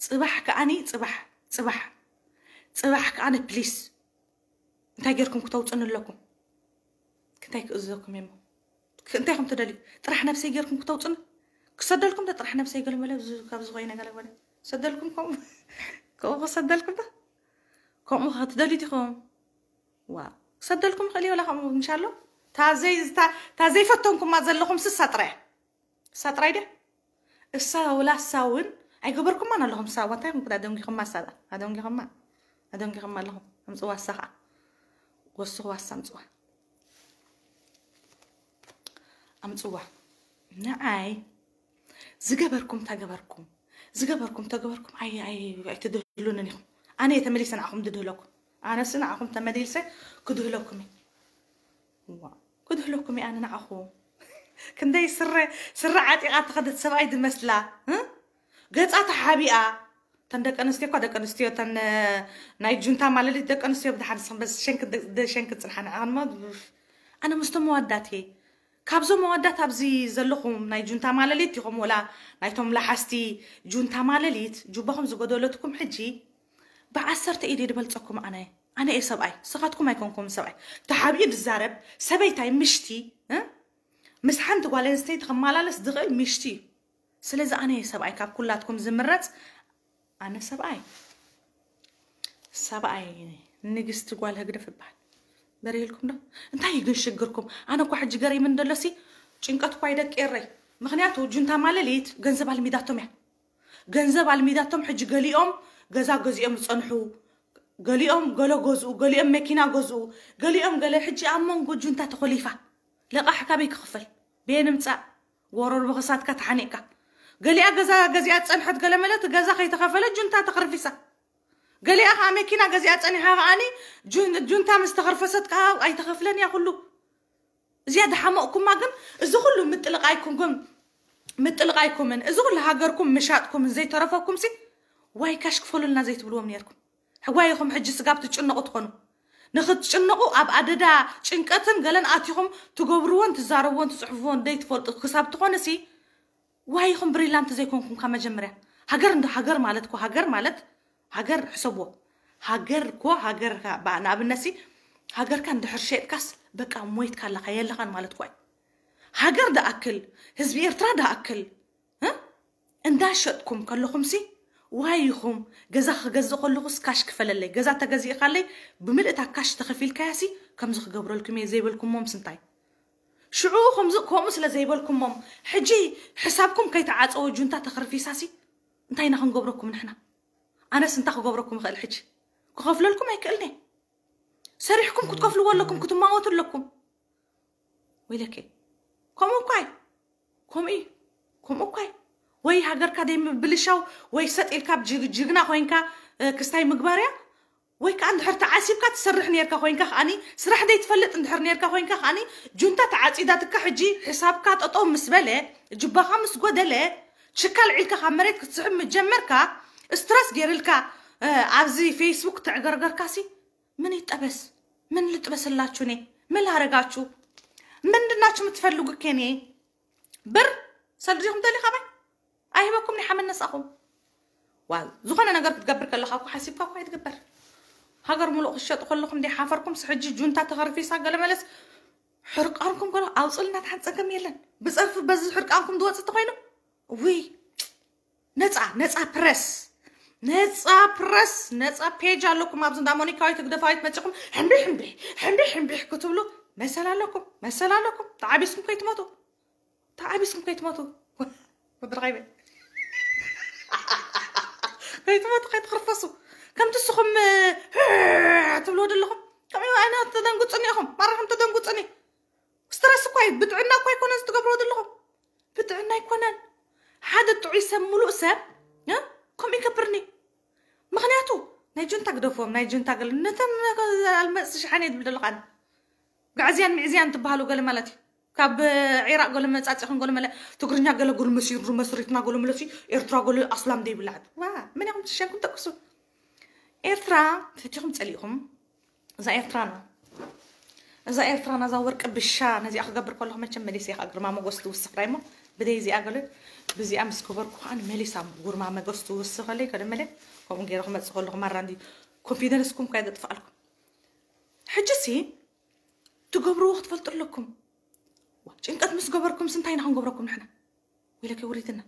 ጽባሕ ከዓኒ ጽባሕ ጽባሕ ጽባሕ ከዓኒ ፕሊስ እንታይ ጌርኩም ክተውፅን ኣለኩም? እንታይ ክእዝዘኩም እሞ እንታይ ከም ትደልዩ? ጥራሕ ነብሰይ ጌርኩም ክተውፅን ክሰደልኩም ዶ? ጥራሕ ነብሰይ ገለ መለ ካብዚ ኮይነ ገለ መለ ሰደልኩም ከምኡ ከምኡ ክሰደልኩም ዶ? ከምኡ ክትደልዩ ዲኹም? ዋ ክሰደልኩም ይኽእል እዩ። ወላ ከምኡ ምሻሎ ታዘይ ታዘይ ፈተንኩማ ዘለኹም ስሳ ጥራይ ሳጥራይ ድያ እሳ ወላ እሳ እውን ኣይገበርኩማን ኣለኹም። እሳ እዋ እንታይ ኮንኩ ኣደንጊኹማ እሳ ኣደንጊኹማ ኣደንጊኹማ ኣለኹም። ኣምፅዋ እሳ ከዓ ወስኽዋ እሳ ኣምፅዋ ኣምፅዋ ንዓይ ዝገበርኩም ተገበርኩም ዝገበርኩም ተገበርኩም ኣይትድህሉንን ኢኹም። ኣነ እየ ተመሊሰ ንዓኹም ድድህለኩም። ኣነስ ንዓኹም ተመሊሰ ክድህለኩም እየ። ክድህለኩም እየ ኣነ ንዓኹም። ክንደይ ስረ ስረ ዓጢቓ ተኸደት ሰብኣይ ድመስላ ገፃ ተሓቢኣ። ተን ደቂ ኣንስትዮ እኳ ደቂ ኣንስትዮ ተን ናይ ጁንታ ማለሊት ደቂ ኣንስትዮ ብድሓን ሸንክ ሸንክ ፅንሓ ንዕቕንሞ ኣነ ምስቶም መዋዳት እየ። ካብዞም መዋዳት ኣብዚ ዘለኹም ናይ ጁንታ ማለሊት ኢኹም ወላ ናይቶም ላሓስቲ ጁንታ ማለሊት ጁባኹም ዝጎደለትኩም ሕጂ ብዓሰርተ ኢደ ድበልፀኩም ኣነ ኣነ እየ ሰብኣይ ስኻትኩም ኣይኮንኩም ሰብኣይ ተሓቢኡ ድዛረብ ሰበይታይ ምሽቲ ምስ ሓንቲ ጓል ኣንስተይቲ ክመላለስ ዝኽእል ምሽቲ እዩ። ስለዚ ኣነ እየ ሰብኣይ ካብ ኩላትኩም ዝምረፅ ኣነ ሰብኣይ ሰብኣይ ንግስቲ ጓል ህግደፍ እበሃል። በሪህልኩም ዶ እንታይ እዩ ግን ሽግርኩም? ኣነ እኳ ሕጂ ገሪምን ደሎሲ ጭንቀት እኳ ይደቂ ኤረይ። ምክንያቱ ጁንታ ማለሊት ገንዘብ ኣልሚዳቶም እያ። ገንዘብ ኣልሚዳቶም ሕጂ ገሊኦም ገዛ ገዚኦም ዝፀንሑ ገሊኦም ገለ ገዝኡ ገሊኦም መኪና ገዝኡ ገሊኦም ገለ ሕጂ ኣብ መንጎ ጁንታ ተኮሊፋ ለቃሕ ካበይ ክኽፈል ቤ ንምፃእ ጎረር ብክሳትካ ተሓኒቕካ ገሊኣ ገዛ ገዚኣ ዝፀንሐት ገለ መለት ገዛ ከይተኸፈለ ጁንታ ተኸርፊሳ ገሊኣ ከዓ መኪና ገዚኣ ፀኒሓ ከዓኒ ጁንታ ምስ ተኸርፈሰት ከዓ ኣይተኸፍለን እያ ኩሉ እዚኣ ድሓመቕኩማ ግን እዚ ኩሉ ምጥልቓይኩም ግን ምጥልቓይኩምን እዚ ኩሉ ሃገርኩም ምሻጥኩምን ዘይተረፈኩም ሲ ዋይ ካሽ ክፈሉልና ዘይትብልዎም ነርኩም ሕዋይኹም ሕጂ ስጋብ ትጭነቑ ትኾኑ ንክትጭነቑ ኣብ ኣደዳ ጭንቀትን ገለን ኣቲኹም ትገብርዎን ትዛረብዎን ትፅሕፍዎን ደይ ትፈልጡ ክሳብ ትኾነ ሲ ዋይኹም ብሪላንት ዘይኮንኩም ካብ መጀመርያ ሃገር እንዶ ሃገር ማለት እኮ ሃገር ማለት ሃገር ሕሰብዎ ሃገር እኮ ሃገር ንኣብነት ሲ ሃገርካ እንድሕር ሸጥካስ በቃ ሞይትካ ኣለካ የለኻን ማለት እኮ ሃገር ደኣክል ህዝቢ ኤርትራ ደኣክል እንዳሸጥኩም ከለኹም ሲ ዋይ ኢኹም ገዛ ክገዝእ ከለኹስ ካሽ ክፈለለይ ገዛ ተገዚእካለይ ብምልእታ ካሽ ተኸፊልካያ ሲ ከምዚ ክገብረልኩም እየ ዘይበልኩሞም ስንታይ ሽዑ ከምዚ ከምኡ ስለ ዘይበልኩሞም ሕጂ ሕሳብኩም ከይተዓፀወ ጁንታ ተኸርፊሳ ሲ እንታይ ኢና ክንገብረኩም ንሕና ኣነስ እንታይ ክገብረኩም ይኽእል ሕጂ ክኸፍለልኩም ኣይክእልኒ ሰሪሕኩም ክትከፍልዎ ኣለኩም ክትማወቱ ኣለኩም ወይለከ ከምኡ እኳይ ከምኡ ከምኡ እኳይ ወይ ሃገርካ ደይ ምብልሻው ወይ ሰጥ ኢልካ ጅግና ኮይንካ ክስታይ ምግባር እያ ወይ ከዓ እንድሕር ተዓሲብካ ትሰርሕ ነርካ ኮይንካ ከዓኒ ስራሕ ደይ ትፈልጥ እንድሕር ነርካ ኮይንካ ከዓኒ ጁንታ ተዓፂዳትካ ሕጂ ሕሳብካ ጠጠው ምስ በለ ጅባኻ ምስ ጎደለ ችካል ዒልካ ካብ መሬት ክትስሕብ ምጀመርካ ስትረስ ገይርልካ ኣብዚ ፌስቡክ ተዕገርገርካሲ ምን ይጠበስ ምን ልጥበስላችሁ እኔ ምን ላረጋችሁ ምንድናችሁ የምትፈልጉ ከኔ ብር ሰልድኹም ደሊ ካባይ ኣይህበኩም ኒ ሓመድ ነሳኹም ዋ ዝኾነ ነገር ክትገብር ከለኻ እኮ ሓሲብካ እኮ ኣይትግበር ሃገር ሙሉእ ክትሸጡ ከለኹም እንደ ሓፈርኩም ሕጂ ጁንታ ተኸርፊሳ ገለ መለስ ሕርቃንኩም ገለ ኣውፅልና ተሓንፀገም የለን ብፀርፊ በዚ ሕርቃንኩም ዝወፅ ተኮይኑ ውይ ነፃ ነፃ ፕረስ ነፃ ፕረስ ነፃ ፔጅ ኣለኩም ኣብዚ እንዳ ሞኒካዊት ህግደፋዊት መፂኹም ሕምቢሕ ሕምቢሕ ሕምቢሕ ሕምቢሕ ክትብሉ መሰል ኣለኩም መሰል ኣለኩም ተዓቢስኩም ከይትመቱ ተዓቢስኩም ከይትመቱ ወድረኸይበ ከይትመቱ ከይትኽርፈሱ ከምቲ ስኹም ትብልዎ ዘለኹም ከምኡ ኣይነት ተደንጉፅኒ ኢኹም ማራኹም ተደንጉፅኒ ስትረስ እኳ እዩ ብጥዕና እኳ ኣይኮነን ዝትገብርዎ ዘለኹም ብጥዕና ኣይኮነን ሓደ ጥዑይ ሰብ ሙሉእ ሰብ ከምኡ ይገብርኒ ምክንያቱ ናይ ጁንታ ግደፎም ናይ ጁንታ ገለ ነተን ኣልመፅቲ ሸሓነ ዝብል ዘለኻን ጋዕዝያን ምዕዝያን ትበሃሉ ገለ ማለት እዩ ካብ ዒራቅ ገለ መፃፂኹም ገለ መለ ትግርኛ ገለ ገለ መሲሩ መስሪትና ገለ መለሲ ኤርትራ ገለ ኣስላም ደይብላዕት ዋ መን ኢኹም ትሸንኩም ጠቅሱ ኤርትራ ፈቲኹም ፀሊእኹም እዛ ኤርትራና እዛ ኤርትራና እዛ ወርቂ ብሻ ነዚኣ ክገብር ከለኹ መቸም መሊሰ ኢኻ ግርማ መጎስ ትውስኽ ዳይሞ ብደይ እዚኣ ገለ ብዚኣ ምስ ገበርኩ ከዓ መሊሳ ጉርማ መገስ ትውስኸለይ። ከደመለ ከምኡ ገይረ ክመፅእ ከለኹ ማራ እንዲ ኮንፊደንስኩም ካይ ዘጥፍኣልኩም። ሕጂ ሲ ትገብርዎ ክትፈልጡ ኣለኩም። ዋ፣ ጭንቀት ምስ ገበርኩም ስንታይ ኢና ክንገብረኩም ንሕና? ወይለከ ውሪትና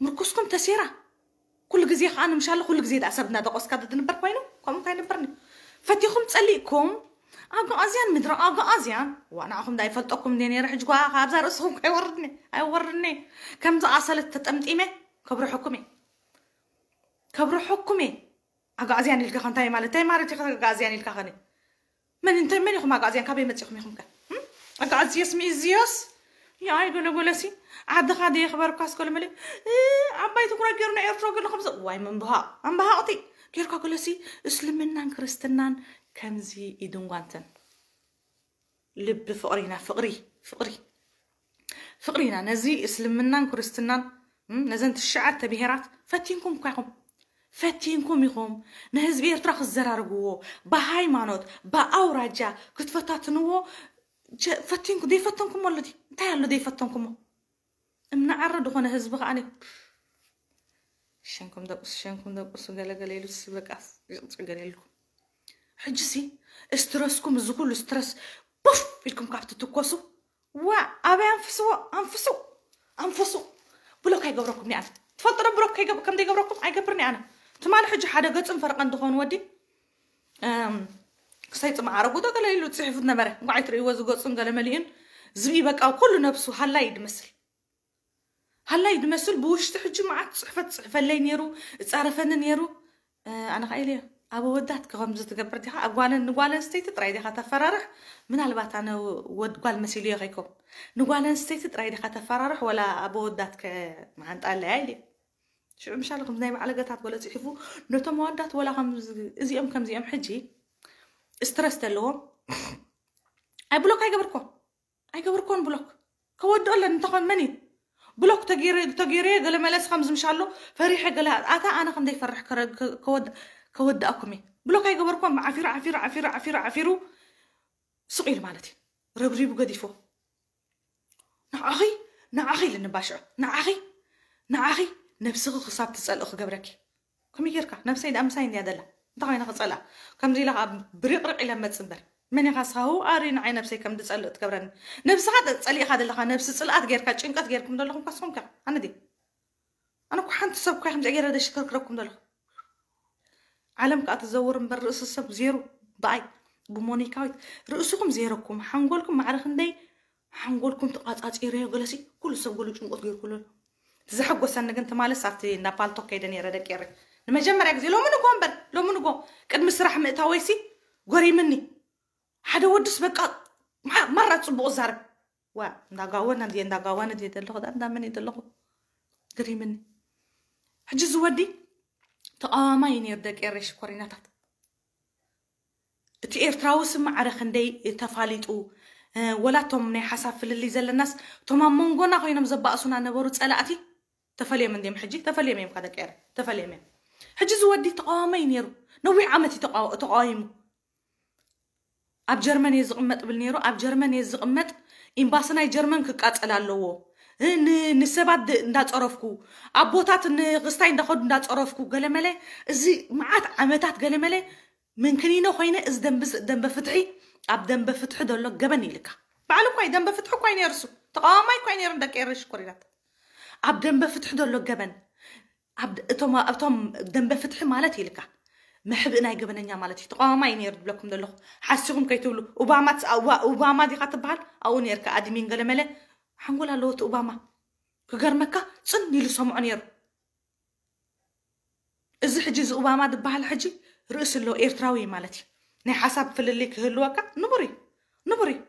ምርኩስኩም ተሴራ። ኩሉ ግዜ ከዓ ንምሻለ ኩሉ ግዜ ደኣ ሰብ እናደቆስካ ትንበር ኮይኑ ከምኡ እንታይ ነበርኒ? ፈቲኹም ጸሊእኩም ኣጋኣዝያን ምድሪ ኣጋኣዝያን። ዋ ንዓኹም ዳ ይፈልጠኩም እንደ ነይረ። ሕጂ ጓ ካብዛ ርእስኹም ከይወርድኒ ኣይወርድኒ። ከምዚ ኣሰለት ተጠምጢመ ከብርሐኩም እየ። ከብርሐኩም እየ። ኣጋኣዝያን ኢልካ ከ እንታይ ማለት እንታይ ማለት ኢኻ? ኣጋኣዝያን ኢልካ ከነ መን እንታይ መን ኢኹም ኣጋኣዝያን? ካበይ መጺኹም ኢኹም ከ? እም? ኣጋኣዝዮስ ሚእዝዮስ ያይ ገለጎለሲ ዓድኻ ደየኽበርኳስ ገለመለ ዓባይ ትኩረት ገይሩ ንኤርትራ ገለ ከምዚ ዋይ ምንብሃቕ ኣምብሃቕቲ ጌርካ ገለሲ እስልምናን ክርስትናን ከምዚ ኢድንጓንተን ልቢ ፍቕሪና ፍቕሪ ፍቕሪ ፍቕሪና ነዚ እስልምናን ክርስትናን እም፣ ነዘን ትሽዓተ ብሄራት ፈቲንኩም እኳ ኢኹም ፈቲንኩም ኢኹም ንህዝቢ ኤርትራ ክዘራርግዎ ብሃይማኖት ብኣውራጃ ክትፈታትንዎ ጀ- ፈቲንኩ ዘይፈተንኩሞ ኣሎ ድዩ? እንታይ ኣሎ ዘይፈተንኩሞ? እምናዓረ ዝኾነ ህዝቢ ከዓ ሸንኩም ደቁስ ሸንኩም ደቁስ ገለገለ ኢሉ በቃ ይቕፅዕ ገለ ኢልኩም ሕጂ ሲ ስትረስኩም እዚ ኩሉ ስትረስ ቡፍ ኢልኩም ካብ ትትኮሱ ዋ ኣበይ ኣንፍስዎ ኣንፍሱ ኣንፍሱ ብሎክ ኣይገብረኩም ኣነ ትፈልጡ ዶ ብሎክ ከይገብ- ከም ዘይገብረኩም ኣይገብርን ኣነ ትማሊ ሕጂ ሓደ ገፅን ፈርቐን ዝኾኑ ወዲ እም፣ ክሳይ ፅማዕ ኣረጉ ዶ ገለ ኢሉ ፅሒፉት ነበረ እንኳዕ ኣይትርእይዎ ዝገፁን ገለ መሊኡን ዝብኢ በቃ ኩሉ ነብሱ ሃላይ ድመስል ሃላይ ድመስል ብውሽጢ ሕጂ መዓት ፅሕፈት ፅሕፈለይ ነይሩ እፃረፈኒ ነይሩ ኣነ ከዓ ኢለ ኣብ ወዳት ከምዚ ትገብር ዲኻ ኣብ ጓል ንጓል ኣንስተይቲ ጥራይ ዲኻ ተፈራርሕ ምናልባት ኣነ ወድ ጓል መሲሉ እየ ከይከው ንጓል ኣንስተይቲ ጥራይ ዲኻ ተፈራርሕ ወላ ኣብ ወዳት ከ መዓንጣ ኣለያ ኢለ ሽዑ ምሻለ ከምዚ ናይ ባዕለገታት ወለ ፅሒፉ ነቶም ኣወዳት ወላ ከም እዚኦም ከምዚኦም ሕጂ ስትረስ ዘለዎም ኣይ ብሎክ ኣይገበርኮ ኣይገበርኮን ብሎክ ከወድኦ ኣለን እንተኾን መን እዩ ብሎክ ተገይረ ተገይረ ገለ መለስ ከም ዝምሻሎ ፈሪሐ ገለ ኣታ ኣነ ከም ዘይፈርሕ ከረ- ከ- ከወድ- ከወድኣኩም እየ ብሎክ ኣይገበርኮን ዓፊሩ ዓፊሩ ዓፊሩ ዓፊሩ ዓፊሩ ስቕ ኢሉ ማለት እዩ ረብሪቡ ገዲፎ ንዓኺ ንዓኺ ኢለ ንባሽዖ ንዓኺ ንዓኺ ነብስኺ ክሳብ ትፀልእ ክገብረኪ ከመይ ጌርካ ነብሰይ ደኣ ምሳይ እንድያ ዘላ እንታይ ኮይነ ክፀልኣ ከምዚ ኢለ ከዓ ብሪቕሪቕ ኢለ መፅ እምበር መን ኢኻ ስኻ ህው ኣሪ ንዓይ ነብሰይ ከም ዝፀልእ ትገብረኒ ነብስኻ ጸሊእኻ ዘለኻ ነብሲ ፅልኣት ጌርካ ጭንቀት ጌርኩም ዘለኹም ካስኹም ከ ኣነ ድየ ኣነ እኮ ሓንቲ ሰብ እኮ ከምዚ ገይረ ደሽከርክረኩም ዘለኹ ዓለም ከዓ ትዘውር እምበር ርእሲ ሰብ ዜሩ ብኣይ ብሞኒካዊት ርእስኹም ዜረኩም ሓንጎልኩም ማዕረ ክንደይ ሓንጎልኩም ተቃጻጺረዮ ገለሲ ኩሉ ሰብ ገሉ ጭንቆት ገይርኩሉ ኣሎ። እቲ ዘሐጎሰኒ ግን ትማልስ ኣብቲ እንዳ ፓልቶክ ከይደ ነይረ ደቂ ኤረይ ንመጀመርያ ግዜ ሎሚ ንጎ እምበር ሎሚ ንጎ ቅድሚ ስራሕ ምእታወይሲ ጎሪምኒ ሓደ ወድስ በቃ ማ- ማራ ጽቡቕ ዛረብ ዋ እንዳጋወነ እንዲ እንዳጋወነ እንዲ ዘለኹ ዳ እንዳመን ዘለኹ ግሪምኒ ሕጂ ዝወዲ ተቃዋማይ ነይሩ ደቂ ኤረይ ሽኮሪናታት እቲ ኤርትራዊ ስም ማዕረ ክንደይ ተፋሊጡ ወላቶም ናይ ሓሳብ ፍልልይ ዘለናስ እቶም ኣብ መንጎና ኮይኖም ዘባእሱና ነበሩ ፀላእቲ ተፈልዮም እንዲም ሕጂ ተፈልዮም እዮም ካደቀር ተፈልዮም እዮም ሕጂ ዝወዲ ተቃዋማይ ነይሩ ነዊሕ ዓመት ተቃዊሙ ኣብ ጀርመን እየ ዝቕመጥ ብል ነይሩ ኣብ ጀርመን እየ ዝቕመጥ ኤምባሲ ናይ ጀርመን ክቃፀል ኣለዎ ንሰባት እንዳፀረፍኩ ኣቦታት ንክስታይ እንዳኸዱ እንዳፀረፍኩ ገለመለ እዚ መዓት ዓመታት ገለመለ ምንክኒኖ ኮይነ እዚ ደንበ ፍትሒ ኣብ ደንበ ፍትሒ ዘሎ ገበን ኢልካ ባዕሉ እኳ ደንበ ፍትሒ እኳ ነርሱ ተቃዋማይ እኳ ነሩ ደቂ ኤረ ሽኮሪናት ኣብ ደንበ ፍትሒ ዘሎ ገበን እቶም ደንበ ፍትሒ ማለት ኢልካ መሕብእ ናይ ገበነኛ ማለት እዩ ተቃዋማይ ነሩ ዝብለኩም ዘለኹ ሓሲኹም ከይትብሉ ኦባማ ኦባማ ዲካ ትበሃል ኣብኡ ነርካ ኣድሚን ገለመለ ሓንጎል ኣለዎ እቲ ኦባማ ክገርመካ ፅን ኢሉ ሰምዖ ነሩ እዚ ሕጂ እዚ ኦባማ ዝበሃል ሕጂ ርእሲ ኣለዎ ኤርትራዊ እዩ ማለት እዩ ናይ ሓሳብ ፍልልይ ክህልወካ ንቡር እዩ ንቡር እዩ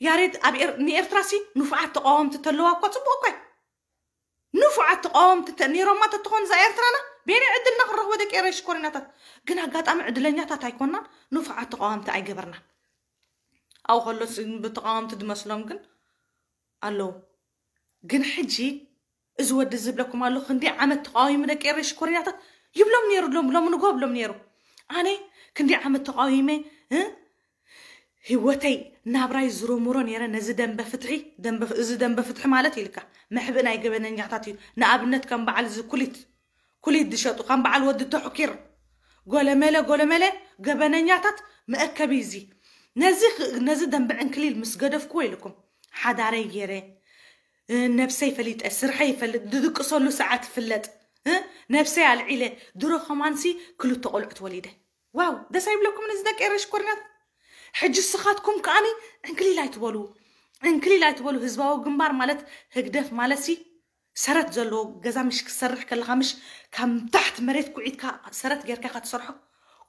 ያሬድ ኣብ ንኤርትራ ሲ ንፉዓት ተቃወምቲ ተለዋ እኳ ፅቡቅ እኳ እዩ ንፉዓት ተቃወምቲ ነይሮማ ተትኾን እዛ ኤርትራና ቤነ ዕድልና ክንረኽቦ ደቂ ኤረይ ሽኮሪናታት ግን ኣጋጣሚ ዕድለኛታት ኣይኮናን ንፉዓት ተቃወምቲ ኣይገበርናን ኣብኡ ከሎ ብተቃወምቲ ዝመስሎም ግን ኣለዉ ግን ሕጂ እዚ ወዲ ዝብለኩም ኣሎ ክንደይ ዓመት ተቃዊሙ ደቂ ኤረይ ሽኮሪናታት ይብሎም ነይሩ ሎም ሎም ንጎ ብሎም ነይሩ ኣነ ክንደይ ዓመት ተቃዊመ እ? ህይወተይ ናብራይ ዝሮምሮ ነይረ ነዚ ደንበ ፍትሒ። ደንበ- እዚ ደንበ ፍትሒ ማለት ኢልካ መሕብእ ናይ ገበነኛታት እዩ። ንኣብነት ከም በዓል እዚ ኩሊት ኩሊት ዝሸጡ ከም በዓል ወዲ ተሕኪር ጎለመለ ጎለመለ ገበነኛታት መእከቢ እዚ። ነዚ ነዚ ደንበ ዕንክሊል ምስ ገደፍክዎ ኢልኩም ሓዳረይ ገይረ፣ ነብሰይ ፈሊጠ፣ ስርሐይ ይፈልጥ፣ ዝድቅሰሉ ሰዓት ይፍለጥ፣ ነብሰይ ኣልዒለ፣ ድሮ ከማንሲ ክልተ ቆልዑት ወሊደ። ዋው፣ ደስ ኣይብለኩም እዚ ደቂ ኤረሽ ኮርናት? ሕጂ ስኻትኩም ከኣኒ ዕንክሊል ኣይትበሉ። ዕንክሊል ኣይትበሉ። ህዝባዊ ግንባር ማለት ህግደፍ ማለት ሲ ሰረት ዘለዎ ገዛ ምሽ ክትሰርሕ ከለኻ ምሽ ካብ ታሕቲ መሬት ኩዒትካ ሰረት ጌርካ ኢኻ ትሰርሖ።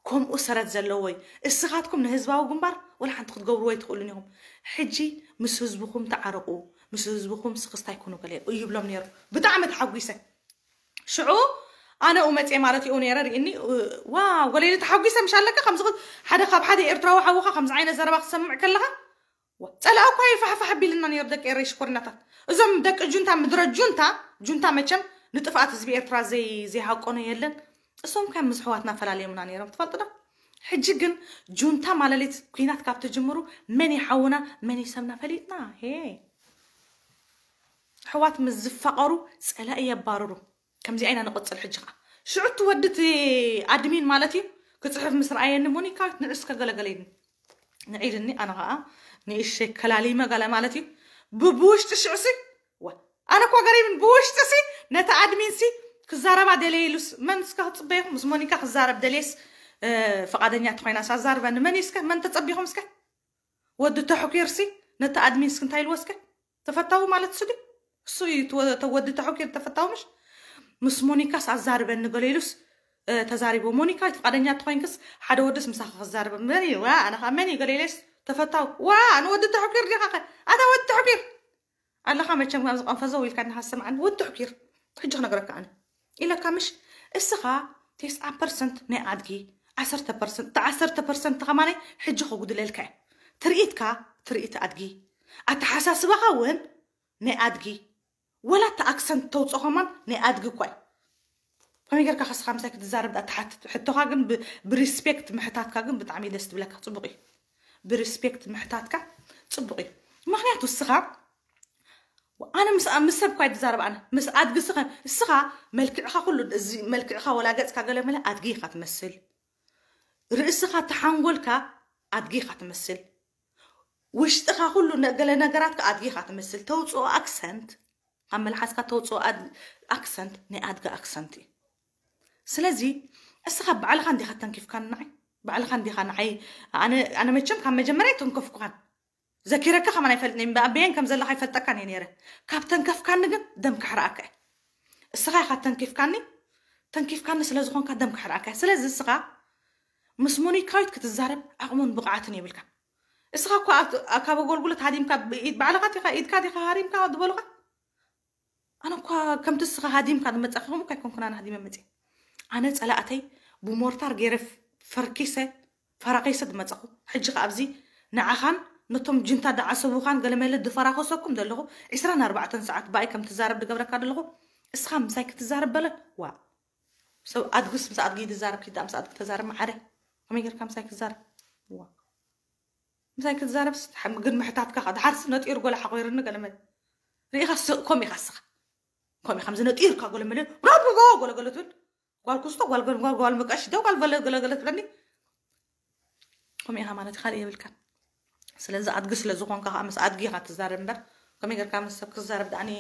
ከምኡ ሰረት ዘለዎ እዩ። እስኻትኩም ንህዝባዊ ግንባር ወላ ሓንቲ ክትገብርዎ ኣይትኽእሉን ኢኹም። ሕጂ ምስ ህዝብኹም ተዓረቑ፣ ምስ ህዝብኹም ስኽስታይ ኩኑ ገለ ይብሎም ነይሩ። ብጣዕሚ ተሓጒሰ። ሽዑ ኣነ ኡመፅየ ማለት ይኡ ነይረ ርእኒ። ዋ፣ ጎለይሊ ተሓጒሰ ምሽ ኣለካ ከምዚ ኽል- ሓደ ካብ ሓደ ኤርትራዊ ሓውኻ ከምዚ ዓይነት ዘረባ ክሰምዕ ከለኻ ዋ፣ ጸላእ እኳ ይፋሕፋሕ ኣቢልና ነይሩ ደቂ ኤረይ ሽኮሪናታት። እዞም ደቂ ጁንታ ምድረ ጁንታ ጁንታ መቸም ንጥፍኣት ህዝቢ ኤርትራ ዘይ ዘይሃቆኖ የለን። እሶም ከም ምስ ኣሕዋትና ፈላልዮምና ነይሮም ትፈልጡ ዶ? ሕጂ ግን ጁንታ ማለሊት ኩናት ካብ ትጅምሩ መን ይሓውና መን ይሰብና ፈሊጥና። ሄ ኣሕዋት ምስ ዝፋቐሩ ጸላኢ የባርሩ። ከምዚኣ ኢና ንቕጽል። ሕጂ ኸዓ ሽዑ እቲ ወዲ እቲ ኣድሚን ማለት እዩ ክጽሕፍ ምስ ረኣየኒ ሞኒካ ንዕስ ከገለገለይኒ ንዒልኒ ኣነ ኸዓ ንእሸ ከላሊመ ገለ ማለት እዩ። ብ- ብውሽጢ ሽዑሲ ዋ ኣነ እኳ ገሪብን ብውሽጢ ሲ ነቲ ኣድሚን ሲ ክዛረባ ደለየ ኢሉስ መን እስከ ክፅበየኹም ምስ ሞኒካ ክዛረብ ደልየስ ፍቓደኛ ተኮይናስ ኣዛርበኒ መን እዩ እስከ መን ተፀቢኹም እስከ ወዲ ተሕኩር ሲ ነቲ ኣድሚን እስኪ እንታይ ኢልዎ እስከ ተፈታዊ ማለት እሱ ድዩ እሱ እዩ ተወዲ ተሕኩር ተፈታዊ ምሽ ምስ ሞኒካስ ኣዛርበኒ ገለ ኢሉስ ተዛሪቦ ሞኒካ ፍቓደኛ ተኮይንክስ ሓደ ወድስ ምሳኻ ክዛርበ መን እዩ ኣነ ከዓ መን እዩ ገለ ኢለስ ተፈታዊ ዋ ንወዲ ተሕኩር ዲኻ ኣታ ወዲ ተሕኩር ኣለኻ መቸም ኣብዚ ቀንፈዘው ኢልካ እናሃሰምዓኒ ወዲ ተሕኩር ሕጂ ክነግረካ ኣነ ኢለካ ምሽ እስኻ ቴስዓ ፐርሰንት ናይ ኣድጊ ዓሰርተ ፐርሰንት እቲ ዓሰርተ ፐርሰንት ከማናይ ሕጂ ከጉድለልካ እዩ ትርኢትካ ትርኢት ኣድጊ ኣተሓሳስባኻ እውን ናይ ኣድጊ ወላ እቲ ኣክሰንት ተውፅኦ ከማን ናይ ኣድጊ እኳ እዩ ከመይ ጌርካ ከስኻ ምሳይ ክትዛረብ ዳ ትሓትት ሕቶኻ ግን ብሪስፔክት ምሕታትካ ግን ብጣዕሚ ደስ ትብለካ ፅቡቅ እዩ ብሪስፔክት ምሕታትካ ፅቡቅ እዩ ምክንያቱ እስኻ ኣነ ምስ ምስ ሰብ ኳ ይዛረብ ኣነ ምስ ኣድጊ እስኻ እስኻ መልክዕኻ ኩሉ እዚ መልክዕኻ ወላ ገጽካ ገለ መለ ኣድጊ ኢኻ ትመስል ርእስኻ ተሓንጎልካ ኣድጊ ኢኻ ትመስል ውሽጥኻ ኩሉ ገለ ነገራትካ ኣድጊ ኢኻ ትመስል ተውፅኦ ኣክሰንት ካብ መልሓስካ ተውፅኦ ኣክሰንት ናይ ኣድጊ ኣክሰንት እዩ ስለዚ እስኻ ባዕልኻ እንዲኻ ተንኪፍካኒ ንዓይ ባዕልኻ እንዲኻ ንዓይ ኣነ መቸም ካብ መጀመርያ ኣይተንከፍኩኻን ዘኪረካ ከማን ኣይፈልጥን እምበኣበየን ከም ዘለኻ ኣይፈልጠካን እየ ነይረ ካብ ተንከፍካኒ ግን ደም ካሕርኣካ እየ እስኻ ኢኻ ተንኪፍካኒ ተንኪፍካኒ ስለ ዝኾንካ ደም ካሕርኣካ እየ ስለዚ እስኻ ምስ ሞኒካዊት ክትዛረብ ዓቕሙን ብቕዓትን የብልካ እስኻ እኳ ካብ ኣገልግሎት ሃዲምካ ባዕልኻ ዲኻ ኢድካ ዲኻ ሃሪምካ ዝበሉኻ ኣነ እኳ ከምቲ እስኻ ሃዲምካ ዝመጻኺ ከምኡ እኳ ኣይኮንኩን ኣነ ሃዲመ መጽየ ኣነ ጸላእተይ ብሞርታር ገይረ ፈርኪሰ ፈራኺሰ ዝመጻኹ ሕጂ ከ ኣብዚ ንዓኻን ነቶም ጅንታ ዝዓሰቡኻን ገለመለ ዝፈራኸሰኩም ዘለኹ ዕስራን ኣርባዕተን ሰዓት ብኣይ ከም ትዛረብ ዝገብረካ ዘለኹ እስኻ ምሳይ ክትዛረብ በለ ዋ ሰብ ኣድግስ ምስ ኣድጊ ዝዛረብ ኪዳ ምስ ኣድጊ ተዛረብ መዓረ ከመይ ጌርካ ምሳይ ክትዛረብ ዋ ምሳይ ክትዛረብስ ግን ምሕታትካ ድሓርስ ነጢሩ ጎላ ሓቆይርኒ ገለመለ ርኢኻ ስቕ ኮም ኢኻ ስኻ ኮም ኢኻ ምዚ ነጢርካ ገለመለ ራብጎ ጎለገለ ትብል ጓል ኩስቶ ጓል ገንጓል ጓል መቀሽ ደው ጓል በለ ገለገለ ትብለኒ ኮም ኢኻ ማለት ካልእ የብልካን ስለዚ ኣድጊ ስለ ዝኾንካ ከዓ ምስ ኣድጊ ኢኻ ትዛረብ እምበር ከመይ ጌርካ ምስ ሰብ ክዛረብ ዳኣኒ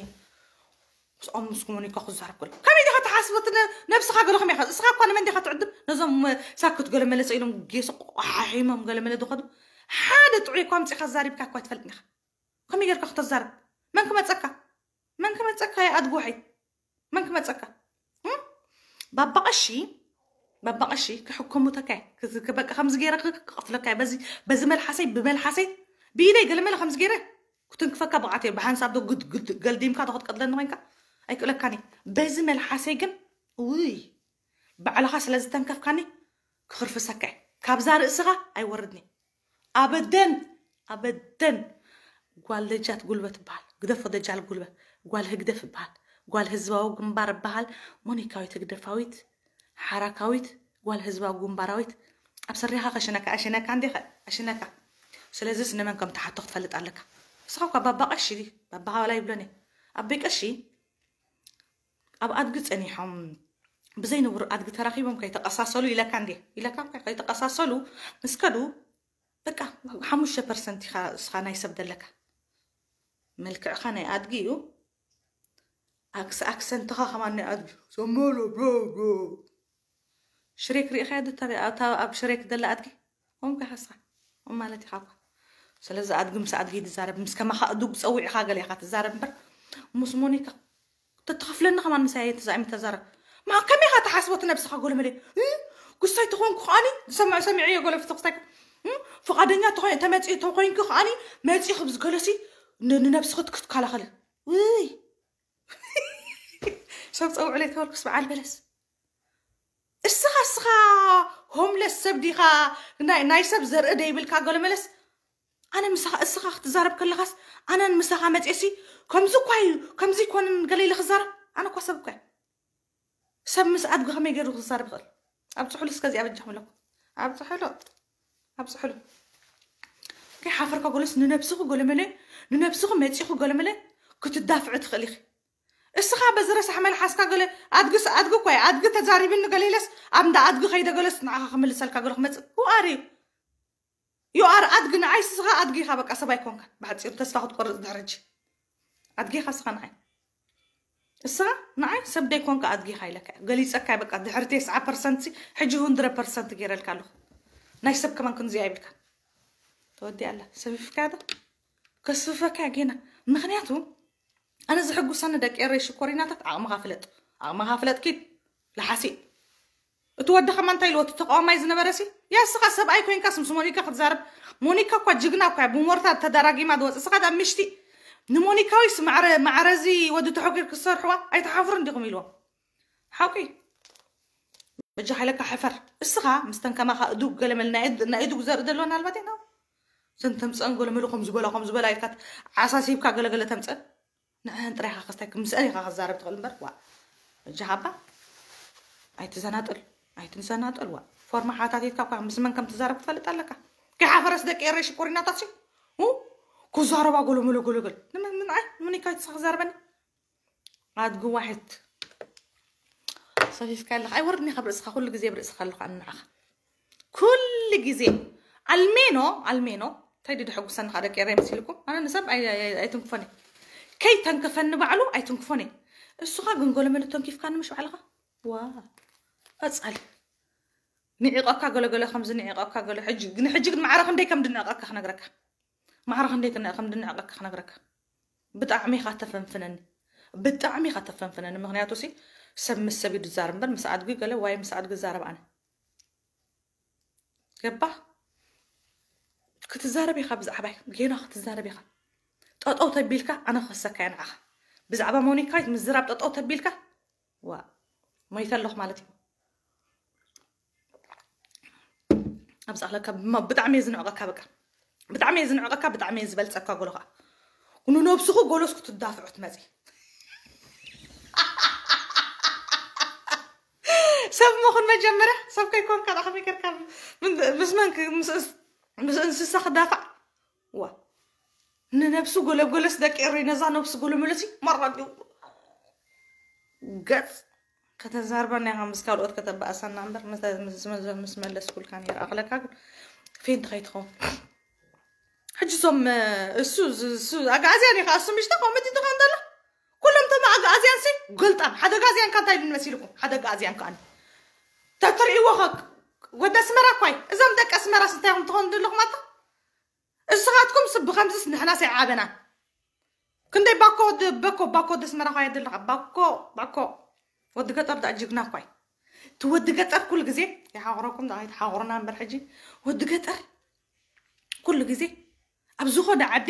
ምስኦም ምስ ኮሙኒካ ክዛረብ ከሎ ከመይ ዲኻ ትሓስብ እቲ ነብስኻ ገለ ከመይ ኢኻ እስኻ እኳ ንመን ዲኻ ትዕድም ነዞም ሳክት ገለ መለሰ ኢሎም ጌሶ ቆሓሒሞም ገለ መለ ዝኸዱ ሓደ ጥዑይ እኳ ኣምፂእካ ዛሪብካ እኳ ኣይትፈልጥን ኢኻ ከመይ ጌርካ ክተዛርብ መን ክመፀካ መን ክመፀካ ይኣድጉ ውሐይ መን ክመፀካ ባባ ቀሺ ባባ ቀሺ ክሕከሙ ተካይ በቃ ከምዚ ገይረ ክቅትለካ በዚ በዚ መልሓሰይ ብመልሓሰይ ብኢደይ ገለመለ ከምዚ ገይረ ክትንክፈካ ብቃት እየ ብሓንሳብ ዶ ግድግድ ገልዲምካ ዶ ክትቀትለኒ ኮይንካ ኣይክእለካን እየ በዚ መልሓሰይ ግን ውይ ባዕልኻ ስለ ዝተንከፍካኒ ክኽርፍሰካ እየ ካብዛ ርእስኻ ኣይወርድኒ ኣበደን ኣበደን ጓል ደጃት ጉልበት ይበሃል ግደፎ ደጃል ጉልበት ጓል ህግደፍ ይበሃል ጓል ህዝባዊ ግንባር ይበሃል ሞኒካዊት ህግደፋዊት ሓራካዊት ጓል ህዝባዊ ግንባራዊት ኣብ ሰሪኻ ከሽነካ ኣሽነካ እንዴ ኣሽነካ ስለዚስ ንመን ከም ትሓቶ ክትፈልጥ ኣለካ። ንስኻ እኳ ባባ ቀሺ፣ ባባ ዋላ ይብሎኒ፣ ኣቦይ ቀሺ ኣብ ኣድጊ ጸኒሖም፣ ብዘይንቡር ኣድጊ ተራኺቦም ከይተቐሳሰሉ ኢለካ እንዴ? ኢለካ እኳ ከይተቐሳሰሉ ምስ ከዱ፣ በቃ ሓሙሽተ ፐርሰንት ኢኻ እስኻ ናይ ሰብ ዘለካ። መልክዕኻ ናይ ኣድጊ እዩ። ኣክስ-፣ ኣክሰንትኻ ከማን ናይ ኣድጊ። ሰመሎ፣ ብሮ፣ ብሮ። ሽሬክ ሪኢኻያ ዶ? እታ ኣብ ሽሬክ ዘላ ኣድጊ? ከምኡ ኢኻ እስኻ። ከምኡ ማለት ኢኻ እኳ። ስለዚ ኣድጊ ምስ ኣድጊ ትዛረብ፣ ምስ ከማኻ ኣእዱግ ጸዊዕኻ ገለ ኢኻ ትዛረብ እምበር፣ ምስ ሞኒካ ተትኸፍለኒ ከማን ምሳይ ተዛኢሚ ተዛረብ። ማ ከመይ ኢኻ ትሓስቦ እቲ ነብስኻ ጎለመለ? እ? ጉሳይ ተኾንኩ ከኣኒ፣ ዝሰምዕ ሰሚዐዮ ጎለፍቲ ክስታይ። እ? ፍቓደኛ ተኾይ-፣ ተመጺ-፣ ተኾይንኩ ከኣኒ፣ መጺ ክብዚ ገለሲ ን-፣ ንነብስኺ ክትከላኸሊ። ውይ! ሰብ ጸውዕለይ ተበልኩስ በዓል በለስ። እስኻ፣ እስኻ ሆምለስ ሰብ ዲኻ? ናይ፣ ናይ ሰብ ዘርኢ ደይብልካ ጎለመለስ። ኣነ ምሳኻ፣ እስኻ ክትዛረብ ከለኻስ፣ ኣነ ምሳኻ መጽኤሲ፣ ከምዚ እኳ እዩ፣ ከምዚ ኣይኮነን ገለ ኢለ ክዛረብ? ኣነ እኳ ሰብ እኳ እየ። ሰብ ምስ ኣድጊ ከመይ ገይሩ ክዛረብ ይኽእል? ኣብጽሑሉ እስከ እዚኣ በጃኹም ኣለኩም። ኣብጽሑሉ። ኣብጽሑሉ። ከይሓፈርካ ጎለስ ንነብስኹ ጎለመለ፣ ንነብስኹ መጺኹ ጎለመለ ክትዳፍዑ ትኽእል ኢኺ። እስኻ በዚ ረሳሕ መልሓስካ ገለ ኣድግስ ኣድጊ እኳ እየ፣ ኣድጊ ተዛሪብኒ ገለ ኢለስ ኣብ እንዳ ኣድጊ ከይደ ገለስ ንዓኻ ክምልሰልካ ገለ ክመጽእ። Who are you? You are ኣድጊ፣ ንዓይ እስኻ ኣድጊ ኢኻ፣ በቃ ሰብ ኣይኮንካን። ብሓጺሩ ተስፋ ክትቆርጽ ድሕሪ ሕጂ። ኣድጊ ኢኻ እስኻ ንዓይ። እስኻ ንዓይ ሰብ ደይኮንካ ኣድጊ ኢኻ ኢለካ እየ። ገሊጸካ እየ፣ በቃ ድሕሪ ተስዓ ፐርሰንት ሲ፣ ሕጂ ሁንድረድ ፐርሰንት ገይረልካ ኣለኹ። ናይ ሰብ ከማን ክንዚኣ ይብልካ። ተወዲኣ ኣላ። ሰፊፍካያ ዶ? ከስፍፈካ እየ ጌና። ምኽንያቱ ኣነ ዝሕጉሰኒ ደቂ ኤረይ ሽኮሪናታት ዓቕምኻ ፍለጥ። ዓቕምኻ ፍለጥ ኪድ። ለሓሲ። እቲ ወዲ ከማን እንታይ ኢልዎ? እቲ ተቃዋማይ ዝነበረ ሲ? ያ እስኻ ሰብኣይ ኮይንካስ ምስ ሞኒካ ክትዛረብ? ሞኒካ እኳ ጅግና እኳ እያ፣ ብሞርታር ተዳራጊማ ዝወጽእ። እስኻ ደኣ ምሽቲ ንሞኒካዊስ ማዕረ፣ ማዕረዚ ወዲ ተሐጒር ክትሰርሕዋ ኣይትሓፍሩን ዲኹም ኢልዎም። ሓቂ። በጃኻ ኢለካ ሕፈር። እስኻ ምስተን ከማኻ እዱግ ገለመል ናይ እድ-፣ ናይ እዱግ ዘርኢ ዘለወን ኣልባት ኢና። እዘን ተምጸን ገለመሉ ከም ዝበላ፣ ከም ዝበላ ኢልካ ዓሳሲብካ ገለገለ ተምጸን። ንዕን ጥራይ ኢኻ ክስታይ፣ ምስአን ኢኻ ክዛረብ ትኽእል እምበር፣ ዋ። በጃኻ እባ ኣይትዘናጠል፣ ኣይትዘናጠል፣ ዋ። ፎርማ ሓታቲትካ እኳ ምስ መን ከም ትዛረብ ክትፈልጥ ኣለካ። ከይሓፈረስ ደቂ ኤረይ ሽኮሪናታት ሲ፣ ኡ፣ ክዛረባ ገለመለ ገለገል። ንመን፣ ምን ኣይ፣ ምን ኢካ ይትሳ ክዛረበኒ? ኣድጊ ዋሒድ። ሰፊፍካ ኣለኻ። ኣይወርድን ኢኻ ብርእስኻ፣ ኩሉ ግዜ ብርእስኻ ኣለኻ ኣነ ንዓኻ። ኩሉ ግዜ። ኣልሜኖ፣ ኣልሜኖ። እንታይ ድዩ ደሐጉሰኒ ኸኣ ደቂ ኤረይ መሲልኩም? ኣነ ንሰብ ኣይ-፣ ኣይ-፣ ኣይ-፣ ኣይትንክፎን እየ። ከይተንክፈኒ ባዕሉ ኣይትንክፎን እየ። እሱኻ ግን ገለመለ ተንኪፍካኒ ምሽ ባዕልኻ? ዋ። ቀጻሊ። ንዒቐካ ገለገለ ከምዚ ንዒቐካ ገለ ሕጂ፣ ግን ሕጂ ግን ማዕረ ክንደይ ከም ድንዕቐካ ክነግረካ። ማዕረ ክንደይ ክነ-፣ ከም ድንዕቐካ ክነግረካ። ብጣዕሚ ኢኻ ተፈንፍነኒ። ብጣዕሚ ኢኻ ተፈንፍነኒ። ምኽንያቱ ሲ ሰብ ምስ ሰብ እዩ ዝዛረብ እምበር ምስ ኣድጊ ገለ ዋይ ምስ ኣድጊ ዝዛረብ ኣነ። ገባህ? ክትዛረብ ኢኻ ብዛዕባይ። ጌና ክትዛረብ ኢኻ። ጠጠው ተቢልካ ኣነ ክኸሰካ እየ ንዓኻ። ብዛዕባ ሞኒካዊት ምዝራብ ጠጠው ተቢልካ፣ ዋ፣ ሞይተ ኣለኹ ማለት እዩ። ኣብዛ ኣለካ ብማ-፣ ብጣዕሚ እየ ዝንዕቐካ በቃ። ብጣዕሚ እየ ዝንዕቐካ፣ ብጣዕሚ እየ ዝበልጸካ ጎሎ ኸኣ። ንነብስኹ ጎሎስ ክትዳፍዑ ትመጺ። ሰብ ምኹን መጀመርያ፣ ሰብ ከይኮንካ ደኣ ከመይ ጌርካ ምን-፣ ምስ መን ክ-፣ ምስ እንስ-፣ ምስ እንስሳ ክዳፋዕ? ዋ። ንነብሱ ጎለጎለስ ደቂ ኤረይ ነዛ ነብሱ ጎለመለሲ መራ ድዩ? ገጽ ከተዛርበና ኢኻ ምስ ካልኦት ከተባእሰና እምበር ምስ፣ ምስ፣ ምስ፣ ምስ መለስኩልካ ነይረ። ኣኽለካ ግን ፌንት ከይትኸውን። ሕጂ እዞም፣ እሱ፣ እሱ፣ እሱ ኣግኣዝያን ኢኻ፣ እሱ ምሽታ ኮመዲ ትኾን ዘሎ። ኩሎም እቶም ኣግኣዝያን ሲ ገልጣም። ሓደ ኣግኣዝያን ካብ እንታይ ድን መሲልኩም? ሓደ ኣግኣዝያን ከኣኒ። ተትርእይዎ ኸ-፣ ወደ ኣስመራ እኳይ። እዞም ደቂ ኣስመራስ እንታይ ኢኹም ትኾኑ ዘለኹም ኣታ? እስኻትኩም ስ ብኸምዚስ ንሕናስ ኣይዓበናን። ክንደይ ባኮ ወዲ፣ በኮ፣ ባኮ ወዲ ኣስመራ ኳ የድልኻ። ባኮ፣ ባኮ። ወዲ ገጠር ደኣ ጅግና እኳ እዩ። እቲ ወዲ ገጠር ኩሉ ግዜ ይሓቑረኩም፣ ደኣ ኣይትሓቑሩና እምበር ሕጂ። ወዲ ገጠር ኩሉ ግዜ ኣብ ዝኾነ ዓዲ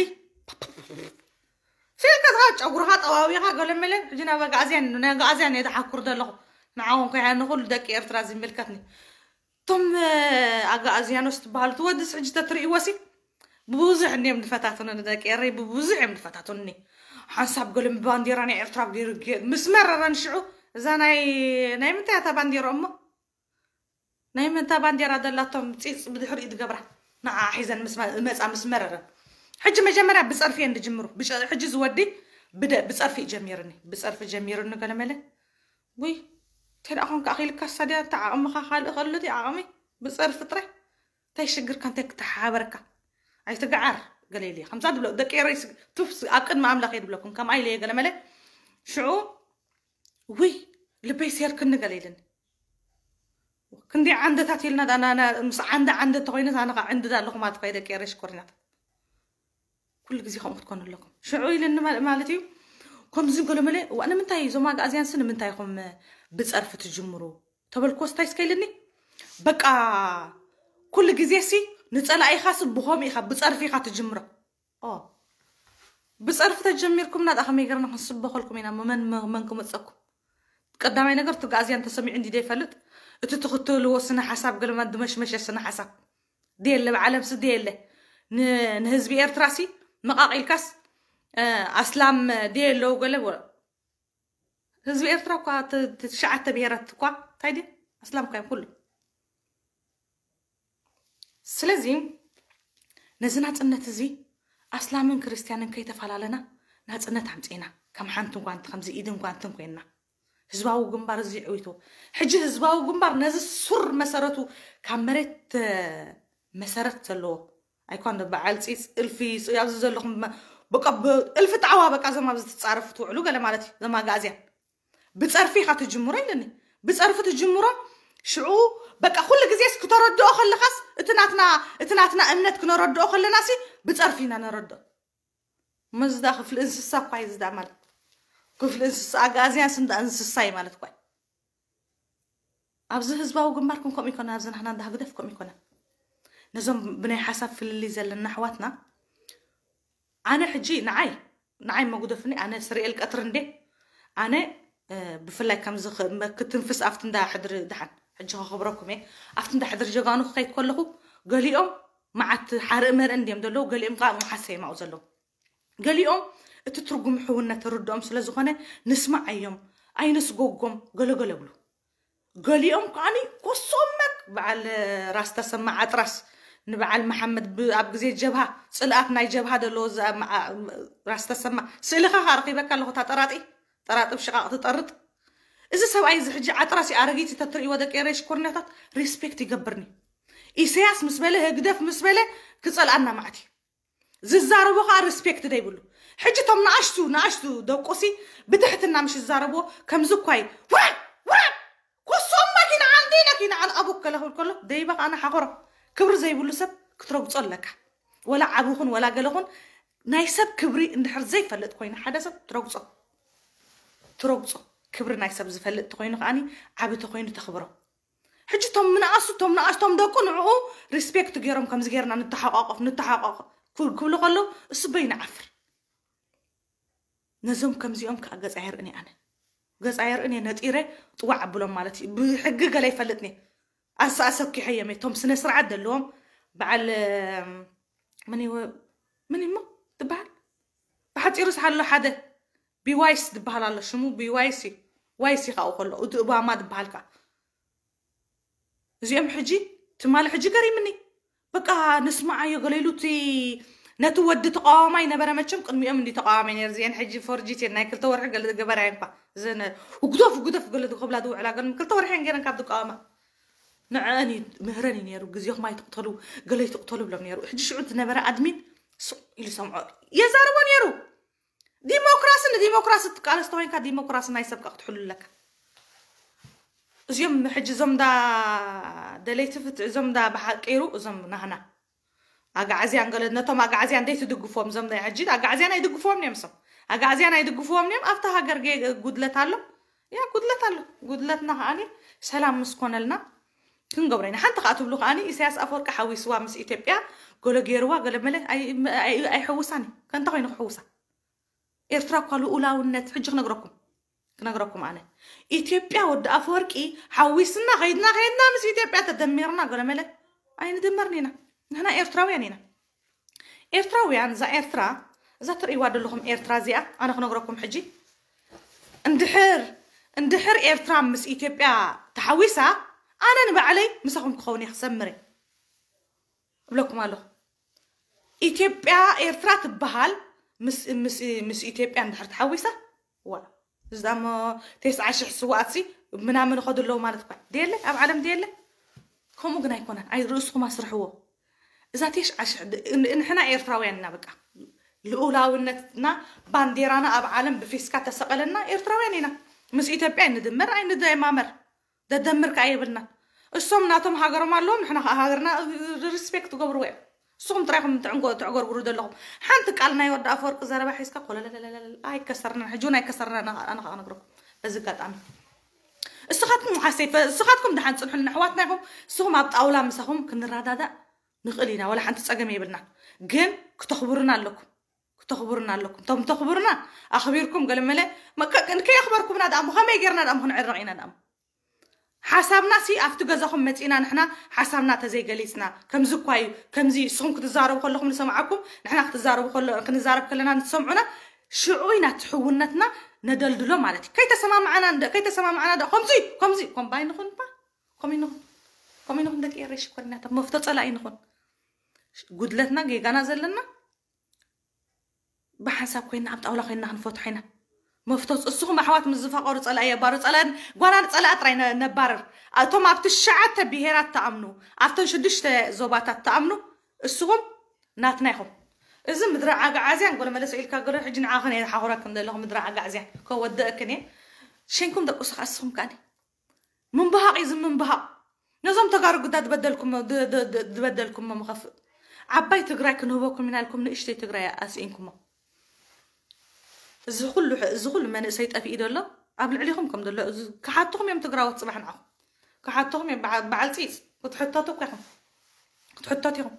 ፊልካ ዝኻ ጨጉርኻ ጠዋዊኻ ገለመለ፣ ሕጂ ናብ ኣግኣዝያን፣ ናይ ኣግኣዝያን እየ ዝሓኩር ዘለኹ። ንዓኹም ከይሃ ንኹሉ ደቂ ኤርትራ ዝምልከትኒ። እቶም፣ እ፣ ኣግኣዝያኖስ ትበሃሉ ትወድስ ሕጂ ተትርእይዎ ሲ፣ ብብዙሕ እንድዮም ዝፈታተኑኒ፣ ደቂ ኤረይ ብብዙሕ እዮም ዝፈታተኑኒ። ሓንሳብ ገለ ባንዴራ ናይ ኤርትራ ገይሩ ገ-፣ ምስ መረረን ሽዑ፣ እዛ ናይ፣ ናይ ምንታይ እያ እታ ባንዴራ እሞ? ናይ ምንታይ ባንዴራ ዘላቶም ጺጽ ብድሕሪኡ ዝገብራ? ንዓ ሒዘን ምስ መ- መጻ ምስ መረረን። ሕጂ መጀመርያ ብጸርፊ እየን ዝጅምሩ። ብጨ- ሕጂ ዝወዲ ብደ- ብጸርፊ እዩ ጀሚርኒ፣ ብጸርፊ ጀሚርኒ ገለመለ። ውይ፣ እንታይ ደኣ ኮንካ ኣኺልካ ሳድያ፣ እንታይ ዓቕምኻ ካልእ ከሎ እቲ ዓቕሚ ብጸርፊ ጥራይ። እንታይ ሽግርካ፣ እንታይ ክተሓባበረካ? ኣይትግዓር ገለ ኢለ ከምዛ ድብሎ ደቂ ኤረይ ስ- ቱፍ ስ- ኣብ ቅድሚ ኣምላኽ እየ ድብለኩም ከምኣ ኢለ እየ ገለመለ። ሽዑ ውይ፣ ልበይ ሴርክኒ ገለ ኢልኒ። ክንደይ ዓንደታት ኢልና ዳ- ና- ና- ምስ ዓንደ ዓንደ ተኮይነ ኣነ ከዓ ዕንድድ ኣለኹ ማለት እኮ ደቂ ኤረይ ሽኮሪናት። ኩሉ ግዜ ከምኡ ክትኮኑ ኣለኩም። ሽዑ ኢልኒ ማለ- ማለት እዩ። ከምዚ ገለመለ እዋ ንምንታይ እዞም ኣግኣዝያን ስ ንምንታይ ኢኹም ብፀርፊ ትጅምሩ ተበልኮ ስታይ እስከ ኢልኒ። በቃ ኩሉ ግዜ ሲ ንፀላኢኻ ስ ብኸምኡ ኢኻ ብፀርፊ ኢኻ ትጅምሮ። ኦ ብፀርፊ ተጀሚርኩም ናጣ ከመይ ገርና ክንስበኸልኩም ኢና መን መን ክመፀኩም። ቀዳማይ ነገር እቲ ኣግኣዝያን ተሰሚዑ እንዲ ዘይፈልጥ እቲ ትኽተልዎ ስነ ሓሳብ ገለማ ድመሽመሸ ስነ ሓሳብ ድየለ ብዓለም ስ ድየለ ንህዝቢ ኤርትራ ሲ መቃቂልካስ ኣስላም ድየለው ገለ ህዝቢ ኤርትራ እኳ ትሽዓተ ብሄራት እኳ እንታይ ድየ ኣስላም እኳ እዮም ኩሉ። ስለዚ ነዚ ናፅነት እዚ ኣስላምን ክርስትያንን ከይተፈላለና ናፅነት ኣምፅእና ከም ሓንቲ ጓንቲ ከምዚ ኢድን ጓንትን ኮይንና ህዝባዊ ግንባር እዚ ዕዊቱ ሕጂ ህዝባዊ ግንባር ነዚ ሱር መሰረቱ ካብ መሬት መሰረት ዘለዎ ኣይኮን በዓል ፂፅ እልፊ ኣብዚ ዘለኹም በቃ እልፊ ጣዕዋ በቃ ዘም ኣብዚ ትፃረፉ ትውዕሉ ገለ ማለት እዩ ዘማጋእዝያን ብፀርፊ ኢኻ ትጅምሮ ኢለኒ ብፀርፊ ትጅምሮ ሽዑ በቃ ኩሉ ግዜስ ክተረድኦ ከለኻስ እቲ ናትና እቲ ናትና እምነት ክነረድኦ ከለና ሲ ብፀርፊ ኢና ነረድኦ መዝዳ ክፍሊ እንስሳ እኳ እዩ ዝዳ ማለት ክፍሊ እንስሳ ኣጋዝያ ስንዳ እንስሳ እዩ ማለት እኳ ኣብዚ ህዝባዊ ግንባር ከም ከምኡ ይኮነ ኣብዚ ናህና እንዳ ህግደፍ ከምኡ ይኮነ ነዞም ብናይ ሓሳብ ፍልልይ ዘለና ኣሕዋትና ኣነ ሕጂ ንዓይ ንዓይ መጉደፍኒ ኣነ ስርኤል ቀትሪ እንዴ ኣነ ብፍላይ ከምዚ ክትንፍስ ኣብቲ እንዳ ሕድሪ ድሓን ሕጂ ከኽብረኩም እየ ኣብቲ እንዳ ሕድሪ ጀጋኑ ክኸይድ ከለኹ ገሊኦም መዓት ሓርኢ መርእ እንዲዮም ዘለዉ ገሊኦም ከዓ መሓሰ የማኡ ዘለዉ ገሊኦም እቲ ትርጉም ሕውነት ርድኦም ስለ ዝኾነ ንስማዓዮም ኣይንስጎጎም ገለገለ ብሉ ገሊኦም ከዓኒ ኮሶመክ በዓል ራስ ተሰማ ዓጥራስ ንበዓል መሓመድ ኣብ ግዜ ጀብሃ ፅልኣት ናይ ጀብሃ ደለዎ ራስ ተሰማ ስእልኻ ካረኺበካ ኣለኹ እታ ጠራጢ ጠራጢ ብሽቓቕ ትጠርጥ እዚ ሰብኣይ እዚ ሕጂ ዓጥራስ ኣረጊት ተትርእይዎ ደቂ ኤረይ ሽኮርኛታት ሪስፔክት ይገብርኒ ኢሰያስ ምስ በለ ህግደፍ ምስ በለ ክፀልኣና ማዕት እዩ ዝዛረቦ ከዓ ሪስፔክት ደይብሉ ሕጂ ቶም ንኣሽቱ ንኣሽቱ ደቁሲ ብትሕትና ምሽ ዝዛረብዎ ከምዚ እኳይ ውረድ ውረድ ኮሶም መኪና ዓንዲ ነኪና ዓን ኣቡክ ከለ ክብል ከሎ ደይባ ከዓ ንሓኸሮ ክብሪ ዘይብሉ ሰብ ክትረግጾ ኣለካ ወላ ዓብኹን ወላ ገለኹን ናይ ሰብ ክብሪ እንድሕር ዘይፈልጥ ኮይኑ ሓደ ሰብ ትረግጾ ትረግጾ ክብሪ ናይ ሰብ ዝፈልጥ ተኮይኑ ከዓኒ ዓቢ ተኮይኑ ተኽብሮ ሕጂ ቶም ምንኣሱ ቶም ንኣሽቶም ደቁ ንዕኡ ሪስፔክት ገይሮም ከምዚ ገይርና ንተሓቋቆፍ ንተሓቋቆፍ ክብሉ ከለዉ እሱ በይኑ ዓፍር ነዞም ከምዚኦም ከዓ ገፃ የርእን ኣነ ገፃ የርእን እየ ነጢረ ጥዋዕ ኣብሎም ማለት እዩ ብሕጊ ገለ ይፈልጥኒ ኣሰኣሰኪሐዮም እየ ቶም ስነ ስርዓት ዘለዎም በዓል ምን ምን እሞ ትበሃል ብሓፂሩ ስሓሎ ሓደ ቢዋይስ ዝበሃል ኣሎ ሽሙ ቢዋይስ እዩ ዋይስ ይካኡ ከሎ እቲ እባማ ዝበሃል ከዓ እዚኦም ሕጂ ትማሊ ሕጂ ገሪምኒ በቃ ንስማዓዮ ገለ ኢሉ እቲ ነቲ ወዲ ተቃዋማይ ነበረ መቸም ቅድሚኦም እንዲ ተቃዋማይ ነር እዚአን ሕጂ ፎርጂት ናይ ክልተ ወርሒ ገለ ዝገበራ እኳ እዘን ውግደፍ ውግደፍ ገለ ዝከብላ ዝውዕላ ገለ ክልተ ወርሒ ገይረን ካብ ዝቃወማ ንዐአን እዩ ምህረን እዩ ነሩ ግዜኹም ኣይትቅተሉ ገለ ይትቅተሉ ብሎም ነሩ ሕጂ ሽዑ ዝነበረ ኣድሚን ሱቅ ኢሉ ሰምዖ የዛርቦ ነሩ ዲሞክራሲ ንዲሞክራሲ ትቃለስ ተኮይንካ ዲሞክራሲ ናይ ሰብ ክትሕሉ ኣለካ እዚኦም ሕጂ እዞም ዳ ደለይቲ ፍትሒ እዞም ዳ ብሓቂሩ እዞም ናህና ኣጋዓዝያን ገለ ነቶም ኣጋዓዝያን ደይ ትድግፎም እዞም ናይ ሕጂ ኣጋዓዝያን ኣይድግፎም እዮም ሶም ኣጋዓዝያን ኣይድግፍዎም እዮም ኣብታ ሃገር ጉድለት ኣሎ ያ ጉድለት ኣሎ ጉድለትና ከዓኒ ሰላም ምስ ኮነልና ክንገብሮ ኢና ሓንቲ ከዓ ትብሉ ከዓኒ ኢሳያስ ኣፈወርቂ ሓዊስዋ ምስ ኢትዮጵያ ገሎ ገይርዋ ገለ መለ ኣይሕውሳን እዩ ከንታ ኮይኑ ክሕውሳ ኤርትራ እኳ ልኡላውነት ሕጂ ክነግረኩም ክነግረኩም ኣነ ኢትዮጵያ ወዲ ኣፈወርቂ ሓዊስና ከይድና ከይድና ምስ ኢትዮጵያ ተደሚርና ገለ መለ ኣይንድመርን ኢና ንሕና ኤርትራውያን ኢና ኤርትራውያን እዛ ኤርትራ እዛ ትርእይዋ ዘለኹም ኤርትራ እዚኣ ኣነ ክነግረኩም ሕጂ እንድሕር እንድሕር ኤርትራ ምስ ኢትዮጵያ ተሓዊሳ ኣነ ንባዕለይ ምሳኹም ክኸውን እየ ክሰምር እየ እብለኩም ኣለኹ። ኢትዮጵያ ኤርትራ ትበሃል ምስ ምስ ምስ ኢትዮጵያ እንድሕር ተሓዊሳ፣ ዋ፣ እዛሞ ተስዓ ሽሕ ስዋኣትሲ ምናምን ይኸዱ ኣለዉ ማለት እኳ ድየለ፣ ኣብ ዓለም ድየለ። ከምኡ ግን ኣይኮነን። ኣይ ርእስኹም ኣስርሕዎ። እዛ ተስዓ ሽሕ ድ- ን- ንሕና ኤርትራውያን ኢና። በቃ ልኡላውነትና፣ ባንዴራና ኣብ ዓለም ብፊስካ ተሰቐለና ኤርትራውያን ኢና። ምስ ኢትዮጵያ ኣይንድመር ኣይንደማመር። ደደምር ከኣ የብልናን። እሶም ናቶም ሃገሮም ኣለዎም፣ ንሕና ከኣ ሃገርና ሪስፔክት ትገብርዎ እዮም። ንስኹም ጥራይ ኢኹም ትዕንጎ- ትዕጎርጉሩ ዘለኹም። ሓንቲ ቃል ናይ ወዲ ኣፈወርቂ ዘረባ ሒዝካ ኮለለለለለ ኣይከሰርናን። ሕጂ እውን ኣይከሰርናን። ኣነ ከኣ ክነግረኩም በዚ ኣጋጣሚ፣ እስኻትኩም ሓሰይ ፈ- እስኻትኩም ደሓን ጽንሑልና፣ ኣሕዋትና ኢኹም። ንስኹም ኣብ ጣውላ ምሳኹም ክንረዳዳእ ንኽእል ኢና፣ ወላ ሓንቲ ጸገም የብልናን። ግን ክተኽብሩና ኣለኩም፣ ክተኽብሩና ኣለኩም። እቶም ተኽብሩና ኣኽቢርኩም ገለመለ መ- ከ- ከየኽበርኩምና ደኣ እሞ ከመይ ጌርና ደኣ እሞ ክንዕረቕ ኢና ደኣ እሞ? ሓሳብና ሲ ኣብቲ ገዛኹም መጺና ንሕና ሓሳብና ተዘይገሊጽና፣ ከምዚ እኳ እዩ፣ ከምዚ ንስኹም ክትዛረቡ ከለኹም ንሰምዓኩም፣ ንሕና ክትዛረቡ ከሎ ክንዛረብ ከለና ንትሰምዑና፣ ሽዑ ኢና እቲ ሕውነትና ነደልድሎ ማለት እዩ። ከይተሰማማዕና እንደ ከይተሰማማዕና ደ ከምዚ ከምዚ ኮምባይ ንኹን ባ ኮሚንኹን ኮሚንኹን ደቂ ኤረይ ሽኮሪናታት መፍቶ ጸላኢ ንኹን። ጉድለትና ጌጋና ዘለና ብሓንሳብ ኮይና ኣብ ጣውላ ኮይና ክንፈትሖ ኢና። መፍቶት እስኹም ኣሕዋት ምስ ዝፋቐሩ ጸላኢ የባሩ። ጸላኢ ጓና ንጸላኢ ጥራይ ነ- ነባርር። እቶም ኣብ ትሽዓተ ብሄራት ተኣምኑ፣ ኣብተን ሽዱሽተ ዞባታት ተኣምኑ፣ እስኹም ናትና ኢኹም። እዚ ምድረ ዓጋዓዝያን ጎለ መለሰ ኢልካ ገለ ሕጂ ንዓኽን እየ ዝሓኹረክን ዘለኹ ምድረ ዓጋዕዝያን ከወደእክን እየ። ሸንኩም ደቁስ ከኣ እስኹም ከኣኒ ምንብሃቕ እዩ ዝምንብሃቕ። ነዞም ተጋሩ ግዳ ዝበደልኩሞ ድ- ድ- ድ- ዝበደልኩሞ ምኸፍእ ዓባይ ትግራይ ክንህበኩም ኢና ኢልኩም ንእሽተይ ትግራይ ኣስኢንኩሞ። እዚ ኩሉ ሕ- እዚ ኩሉ መንእሰይ ጠፊኡ ዘሎ ኣብ ልዕሊኹም ከም ዘሎ እዚ ክሓትኹም እዮም ትግራዎት ጽባሕ ንዓኹም ክሓትኹም እዮም። በዓ- በዓል ፂፅ ክትሕተቱ እኮ ኢኹም ክትሕተቱ ኢኹም።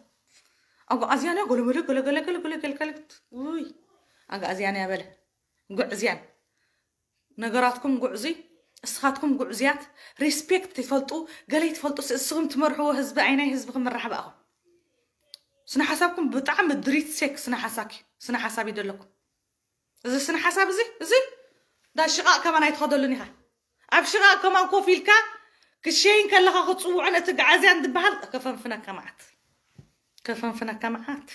ኣጓዓዝያን እያ ጎለመለ ገለገለገለገለገለገለ ውይ ኣጓዓዝያን እያ በለ ጉዕዝያን ነገራትኩም ጉዕዙይ እስኻትኩም ጉዕዙያት ሪስፔክት ትፈልጡ ገለይ ትፈልጡ እስኹም ትመርሕዎ ህዝቢ ኣይናይ ህዝቢ ክምራሕ በኣኹም ስነ ሓሳብኩም ብጣዕሚ ድሪት ሴክ ስነ ሓሳኪ ስነ ሓሳብ ይደለኩም እዚ ስነ ሓሳብ እዚ እዚ ዳ ሽቓቕ ከማን ኣይትኸደሉን ኢኻ ኣብ ሽቓቕ ከማን ኮፍ ኢልካ ክሸይን ከለኻ ክፅውዑን እቲ ግዓዝያን ዝበሃል ከፈንፍነካ መዓት ከፈንፍነካ መዓት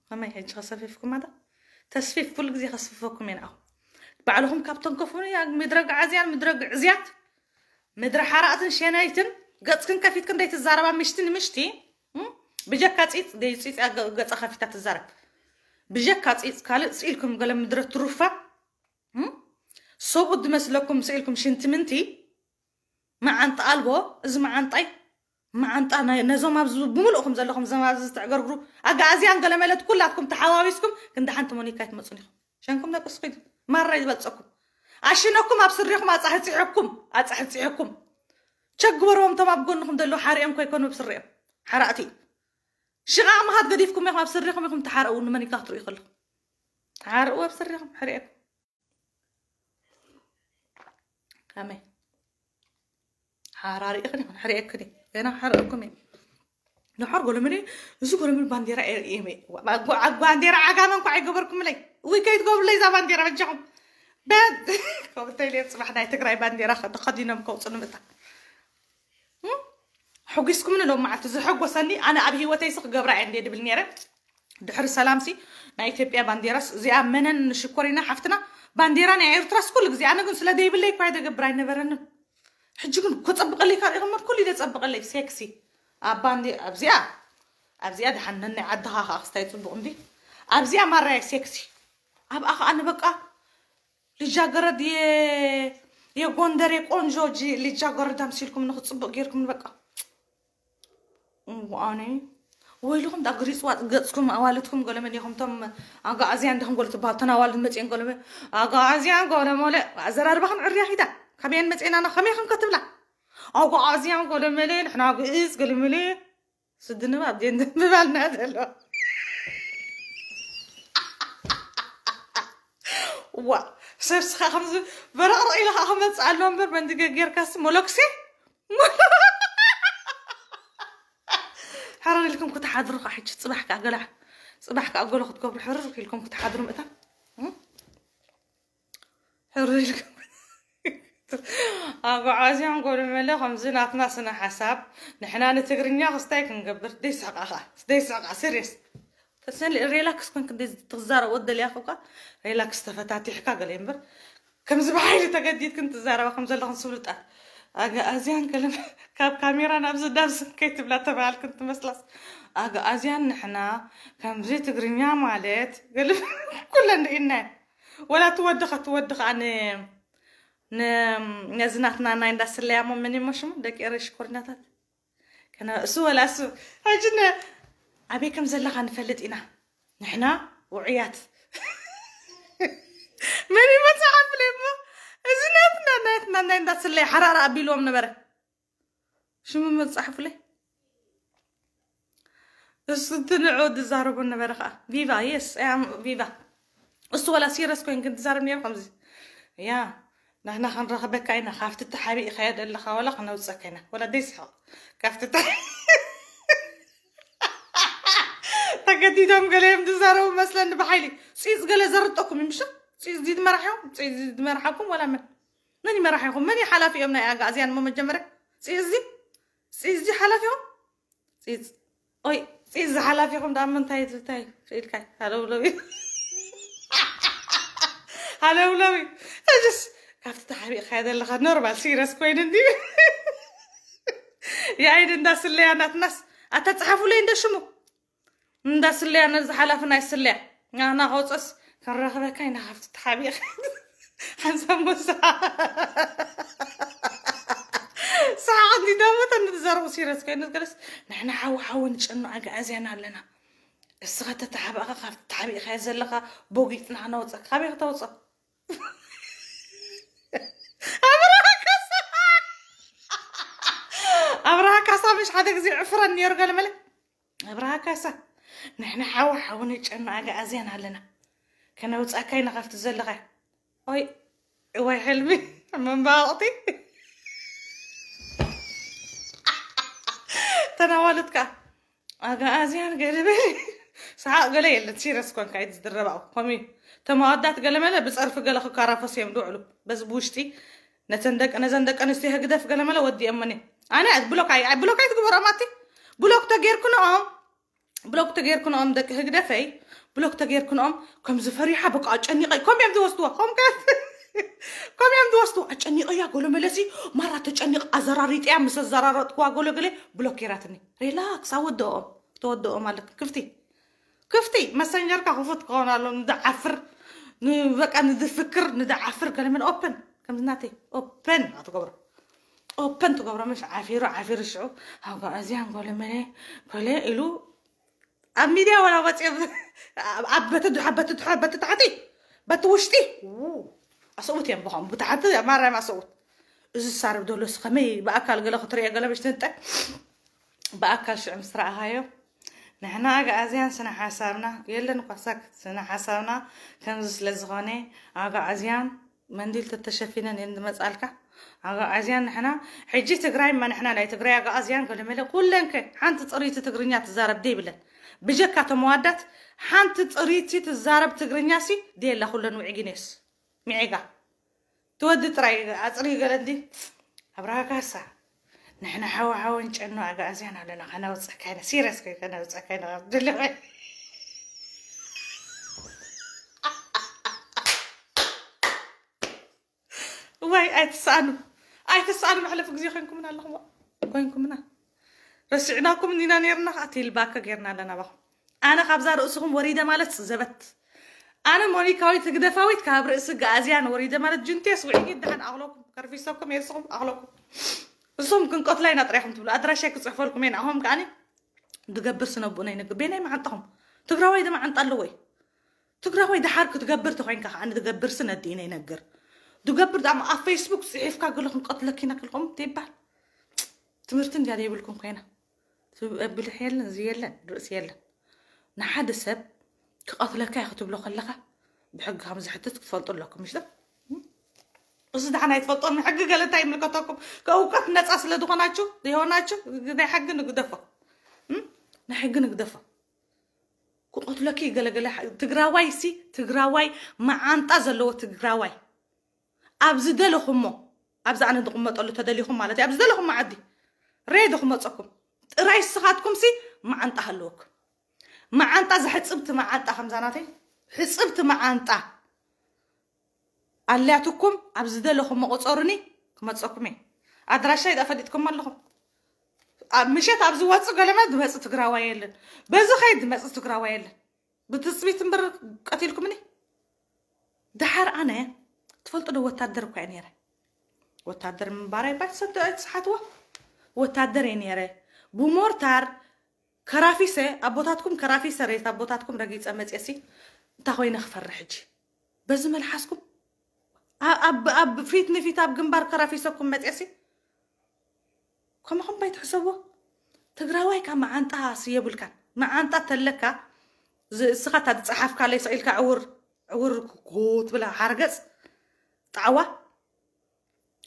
ከመይ ሕጂ ከሰፊፍኩም ኣዳ ተስፊፍ ኩሉ ግዜ ከስፍፈኩም እየ ንኣኹም ባዕልኹም ካብ ተንከፉኒ ምድረ ግዓዝያን ምድረ ግዕዝያት ምድረ ሓራእትን ሸነይትን ገፅክን ከፊትክን ደይትዛረባ ምሽቲ ንምሽቲ ብጀካ ፂፅ ደይፂፅ ገፃ ከፊታ ትዛረብ ብጀካ ፂፅ ካልእ ስኢልኩም ገለ ምድረ ትሩፋ ሰብኡት ዝመስለኩም ስኢልኩም ሽንቲ ምንቲ መዓንጣ ኣልቦ እዚ መዓንጣይ መዓንጣ ነዞም ኣብዚ ብምልእኹም ዘለኹም ዘማዚ ዝተዕገርግሩ ኣጋኣዝያን ገለመለት ኩላትኩም ተሓዋዊስኩም ክንዲ ሓንቲ ሞኒካ ኣይትመፁን ኢኹም ሸንኩም ደቂ ስኺድ ማራ ይበልፀኩም ኣሽነኩም ኣብ ስሪኹም ኣፃሕፂሕኩም ኣፃሕፂሕኩም ቸግበርዎም እቶም ኣብ ጎንኹም ዘለዉ ሓሪኦም ኮይኮኑ ኣብ ስሪኦም ሓራእቲ ሽቓቕ ምኻድ ገዲፍኩም ኢኹም ኣብ ስሪኹም ኢኹም ተሓረኡ ንመኒካ ክትርእዩ ከለኹም ተሓረኡ ኣብ ስሪኹም ሕሪእኩም ከመይ ሓራሪእኽን ይኹን ሕሪእክን እዩ ገና ሓረእኩም እዩ ድሓር ጎለምኒ እዚ ጎለምኒ ባንዴራ ባንዴራ ዓጋመ እንኳ ኣይገበርኩምለይ ወይ ከይትገብሩለይ እዛ ባንዴራ በጃኹም ከምተይለ ፅባሕ ናይ ትግራይ ባንዴራ ተኸዲኖም ከውፅኑ ምእታ ሕጒስኩምኒ ሎም መዓልቲ ዝሐጎሰኒ ኣነ ኣብ ህይወተይሲ ክገብራ እየ እንደ ድብል ነይረ ድሕሪ ሰላምሲ ናይ ኢትዮጵያ ባንዴራስ እዚኣ መነን ሽኮሪና ሓፍትና ባንዴራ ናይ ኤርትራስ ኩሉ ግዜ ኣነ ግን ስለ ዘይብለይ እኳ ደገብር ኣይነበረንን ሕጂ ግን ክፀብቀለይ ካብ ኢኹም ኩሉ ኢለ ፀብቀለይ ሴክሲ ኣብ ባንዴ ኣብዚኣ ኣብዚኣ ድሓን ነናይ ዓድኻ ከዓ ክስታይ ፅቡቅ እንዲ ኣብዚኣ ማራያ ሴክሲ ኣብኣ ከዓ ንበቃ ልጃገረድ የጎንደር የቆንጆ ልጃገረድ ኣምሲልኩም ንክፅቡቅ ጌርኩም ንበቃ ኣነ ወይልኹም ዳ ግሪፅዋ ገፅኩም ኣዋልድኩም ገለመን ኢኹም ቶም ኣጋኣዝያን ዲኹም ጎለ ትበሃል ተን ኣዋልድ መፅኤን ገለመ ኣጋኣዝያን ገለመለ ኣዘራርባኽን ዕርያ ሂዳ ካበየን መፅኤናና ከመይ ክንከትብላ ኣጋኣዝያን ገለመለ ንሕና ግእዝ ገለመለ ስዲ ንባብ ድየን ምባልና ዘሎ ዋ ሰብ ስኻ ከምዚ በረቕረቕ ኢለ ከዓ ክመፅእ ኣሎ እምበር መንዲ ገጌርካስ ሞሎክሴ ሕርር ኢልኩም ክትሓድሩ ከዓ ሕጂ ፅባሕ ከዓ ገላ ፅባሕ ከዓ ገሎ ክትገብሩ ሕርር ኢልኩም ክትሓድሩ ምእታ ሕርር ኢልኩም ኣጓዓዝያን ጎደመለ ከምዚ ናትና ስነ ሓሳብ ንሕና ንትግርኛ ክስታይ ክንገብር ደይስሕቃ ኸዓ ደይስሕቃ ሲሪየስ ተሰሊ ሪላክስ ኮንክ ትዛረብ ወደልያ ኸኳ ሪላክስ ተፈታቲሕካ ገለ እምበር ከምዚ ብሓይሊ ተገዲድክን ትዛረባ ከም ዘለኽን ስብሉጣት ኣጋኣዝያን ከለም ካብ ካሜራ ናብዚ ናብዚ ከይትብላ ተባሃልክን ትመስላስ ኣጋኣዝያን ንሕና ከምዚ ትግርኛ ማለት ገለ ኩለን ርኢናየን ወላ ትወድኻ ትወድኻ ን ን ነዚ ናትና ናይ እንዳስለያሞ ምን ይሞ ሽሙ ደቂ ኤረይ ሽኮርኛታት ከነ እሱ ወላ እሱ ሕጂ ነ ኣበይ ከም ዘለኻ ንፈልጥ ኢና ንሕና ውዑያት መን ይመፅሓፍለይ እሞ እዚ ናትና ናትና ናይ እንዳስለያ ሓራራ ኣቢልዎም ነበረ ሽሙ መፅሓፍለይ እሱ ትንዑ ዝዛረቡ ነበረ ከዓ ቪቫ የስ ቪቫ እሱ ወላ ሲረስ ኮይን ግን ትዛረብ ነይሩ ከምዚ ያ ንሕና ክንረኽበካ ኢና ካብቲ ተሓቢእካዮ ዘለኻ ወላ ክነውፀካ ኢና ወላ ደይስሕቕ ካብቲ ተገዲዶም ገለ እዮም ዝዛረቡ መስለኒ ብሓይሊ ፂፅ ገለ ዘርጠኩም ይምሽ ፂፅ ዝመራሕዮም ፂፅ ዝመርሓኩም ወላ መን መን ይመራሕኹም መን ሓላፊ እዮም ናይ ኣጋእዝያን ሞ መጀመርያ ፂፅ ፂፅ ሓላፊኹም ፂፅ ኦይ ፂፅ ዝሓላፊኹም ዳ ምንታይ እንታይ ኢልካ ሃለውለው ሃለውለው እጅስ ካብቲ ተሓቢእካ ዘለኻ ኖርማል ሲረስ ኮይኑ እንዲ የኣይድ እንዳስለያ ናትናስ ኣታ ፀሓፉለይ እንደ ሽሙ እንዳስለያ ነዚ ሓላፊ ናይ ስለያ ናና ከውፀስ ክንረኽበካ ኢና ካብቲ ተሓቢእኻ ሓንሳብ ሞሳ ሰሓቕ እንዲ ደሞ ተንትዘረቡ ሲረስ ኮይኑ ገለስ ንሕና ሓዊ ሓዊ ንጨኑ ኣጋእዝያን ኣለና እስኻ ተተሓባእኻ ካብ ተሓቢእኻ ዘለኻ ቦጊጥና ክነውፀካ ካበይ ክተውፀ ኣብርሃ ካሳ ኣብርሃ ካሳ ምሽ ሓደ ግዜ ዕፍረን ነይሩ ገለ መለ ኣብርሃ ካሳ ንሕና ሓዊ ሓዊ ንጨኑ ኣጋእዝያን ኣለና ከነውፃካ ኢና ካብቲ ዘለኻ ኦይ እዋይ ሕልሚ መንባቕቲ ተናዋለት ከዓ ኣጋኣዝያን ገለ በሊ ሰሓቕ ገለ የለን ሲረስ ኮንካ እዩ ዝድረባው ከምኡ ተማወዳት ገለ መለ ብፀርፊ ገለ ክካራፈስ እዮም ዝውዕሉ በዚ ብውሽጢ ነተን ደቂ ነዘን ደቂ ኣንስትዮ ህግደፍ ገለ መለ ወዲኦመን እዮም ኣነ ብሎክ ኣይ ብሎክ ኣይትግበሮም ኣቲ ብሎክ ተጌርኩ ንኦም ብሎክ ተጌርኩ ንኦም ደቂ ህግደፈይ ብሎክ ተጌርኩ ንኦም ከም ዝፈሪሓ በቃ ኣጨኒቐ ከም እዮም ዝወስድዋ ከም ከም እዮም ዝወስድዋ ኣጨኒቐያ ጎሎ መለሲ ማራ ተጨኒቕ ኣዘራሪጥያ ምስ ኣዘራረጥኩዋ ጎሎ ገለ ብሎክ ጌራትኒ ሪላክስ ኣወደኦም ተወደኦም ኣለክ ክፍቲ ክፍቲ መሰንጀርካ ክፉት ክኸውን ኣሎ ንድዓፍር በቃ ንድፍክር ንድዓፍር ገለመን ኦፕን ከምዚ ናተይ ኦፕን ኣትገብሮ ኦፕን ትገብሮ ምሽ ዓፊሩ ዓፊሩ ሽዑ ኣጓእዝያን ጎለመለ ጎለ ኢሉ ኣብ ሚድያ ወላ ወፂኦም ኣብ በቲ ድሓ በቲ ድሓ በቲ ታሕቲ በቲ ውሽጢ ኣሰብኡት እዮም ብኸም ብታሕቲ ማራም ኣሰብኡት እዚ ዝሳረብ ደሎስ ከመይ ብኣካል ገለ ክትሪኦ ገለ ምሽ ትንጠ ብኣካል ሽዑ ምስ ረኣኻዮ ንሕና ኣግኣዝያን ስነ ሓሳብና የለን እኳ ሳክት ስነ ሓሳብና ከምዚ ስለ ዝኾነ ኣግኣዝያን መንዲል ተተሸፊነን እየን ዝመጻልካ ኣግኣዝያን ንሕና ሕጂ ትግራይ ማ ንሕና ናይ ትግራይ ኣግኣዝያን ገለመለ ኩለንከ ሓንቲ ፅሪቲ ትግርኛ ትዛረብ ደይብለን ብጀካ ተመዋዳት ሓንቲ ፅሪቲ ትዛረብ ትግርኛ ሲ ደየላ ኩለን ውዒጊኔስ ሚዒጋ ትወዲ ጥራይ ኣፅሪ ገለ እንዲ ኣብርሃ ካሳ ንሕና ሓወሓወን ጨኖ ኣግኣዝያን ኣለና ከነውፀካ ኢና ሲረስ ከይ ከነውፀካ ኢና ድልኸ ወይ ኣይትሰኣኑ ኣይትሰኣኑ መሕለፊ ግዜ ኮይንኩምና ኣለኹም ኮይንኩምና ረሲዕናኩም እንዲና ነርና ከዓ ቴልባከ ጌርና ኣለና ባኹም ኣነ ካብዛ ርእስኹም ወሪደ ማለት ዘበት ኣነ ሞኒካዊት ህግደፋዊት ካብ ርእሲ ጋእዝያን ወሪደ ማለት ጅንቴስ ውዒጊ ደሓን ኣኽለኩም ከርፊሰኩም የርስኹም ኣኽለኩም እሶም ክንቀትላ ኢና ጥራይኹም ትብሉ ኣድራሻይ ክፅሕፈልኩም እየ ንኣኹም ከዓኒ ድገብር ስነብኡና ይነግር ቤናይ መዓንጣኹም ትግራዋይ ደመዓንጣ ኣለዎ እዩ ትግራዋይ ደሓር ክትገብር ተኮይንካ ከዓ ንድገብር ስነዲ ይነግር ድገብር ዳማ ኣብ ፌስቡክ ፅሒፍካ ገለ ክንቀትለኪና ከልኩም ይባል ትምህርቲ እንድያ ዘይብልኩም ኮይና ብልሒ የለን እዚ የለን ርእሲ የለን ንሓደ ሰብ ክቐትለካ እዩ ክትብሎ ከለኻ ብሕጊ ከም ዝሕትት ክትፈልጡ ኣለኩም ምሽ እዚ ደሓን ኣይትፈልጦን ሕጊ ገለ እንታይ ይምልከተኩም ከእውቀት ነፃ ስለ ዝኾናችሁ ዘይሆናችሁ ናይ ሕጊ ንግደፎ ናይ ሕጊ ንግደፎ ክቐትለኪ ገለገለ ትግራዋይ ሲ ትግራዋይ መዓንጣ ዘለዎ ትግራዋይ ኣብ ዝደለኹሞ ኣብዚ ኣነ ዝቕመጠሉ ተደሊኹም ማለት እዩ። ኣብ ዝደለኹም መዓዲ ሬዶ ክመፀኩም። ጥራይ ስኻትኩም ሲ መዓንጣ ሃለወኩም። መዓንጣ፣ ዘሕፅብቲ መዓንጣ፣ ከምዛ ናተይ ሕፅብቲ መዓንጣ ኣልያትኩም፣ ኣብ ዝደለኹም መቆፀሩኒ ክመፀኩም እየ። ኣድራሻይ ዳ ፈሊጥኩም ኣለኹም። ኣብ ምሸት ኣብ ዝወፅእ ገለመ ዝመፅእ ትግራዋይ የለን። በዚ ኸይድ ዝመፅእ ትግራዋይ የለን። ብትፅቢት እምበር ቀቲልኩምኒ። ደሓር ኣነ ትፈልጡ ዶ፣ ወታደር እኳ እየ ነይረ። ወታደር ምንባር ኣይባል ሰዶ ኣይትስሓትዎ። ወታደር እየ ነይረ። ብሞርታር ከራፊሰ ኣቦታትኩም፣ ከራፊሰ ሬት ኣቦታትኩም ረጊፀ መፅየሲ እንታይ ኮይነ ክፈርሕ ሕጂ? በዚ መልሓስኩም ኣ- ኣብ ኣብ ፊት ንፊት ኣብ ግንባር ከራፊሰኩም መፅየሲ ከምኹም ባይ ትሕሰቦ። ትግራዋይ ካብ መዓንጣ ስየብልካን። መዓንጣ ተለካ ዝ- እስኻ እታ ዝፀሓፍካለይ ስቕ ኢልካ ዕውር ዕውር ኩ ትብላ ሓርገፅ ጣዕዋ።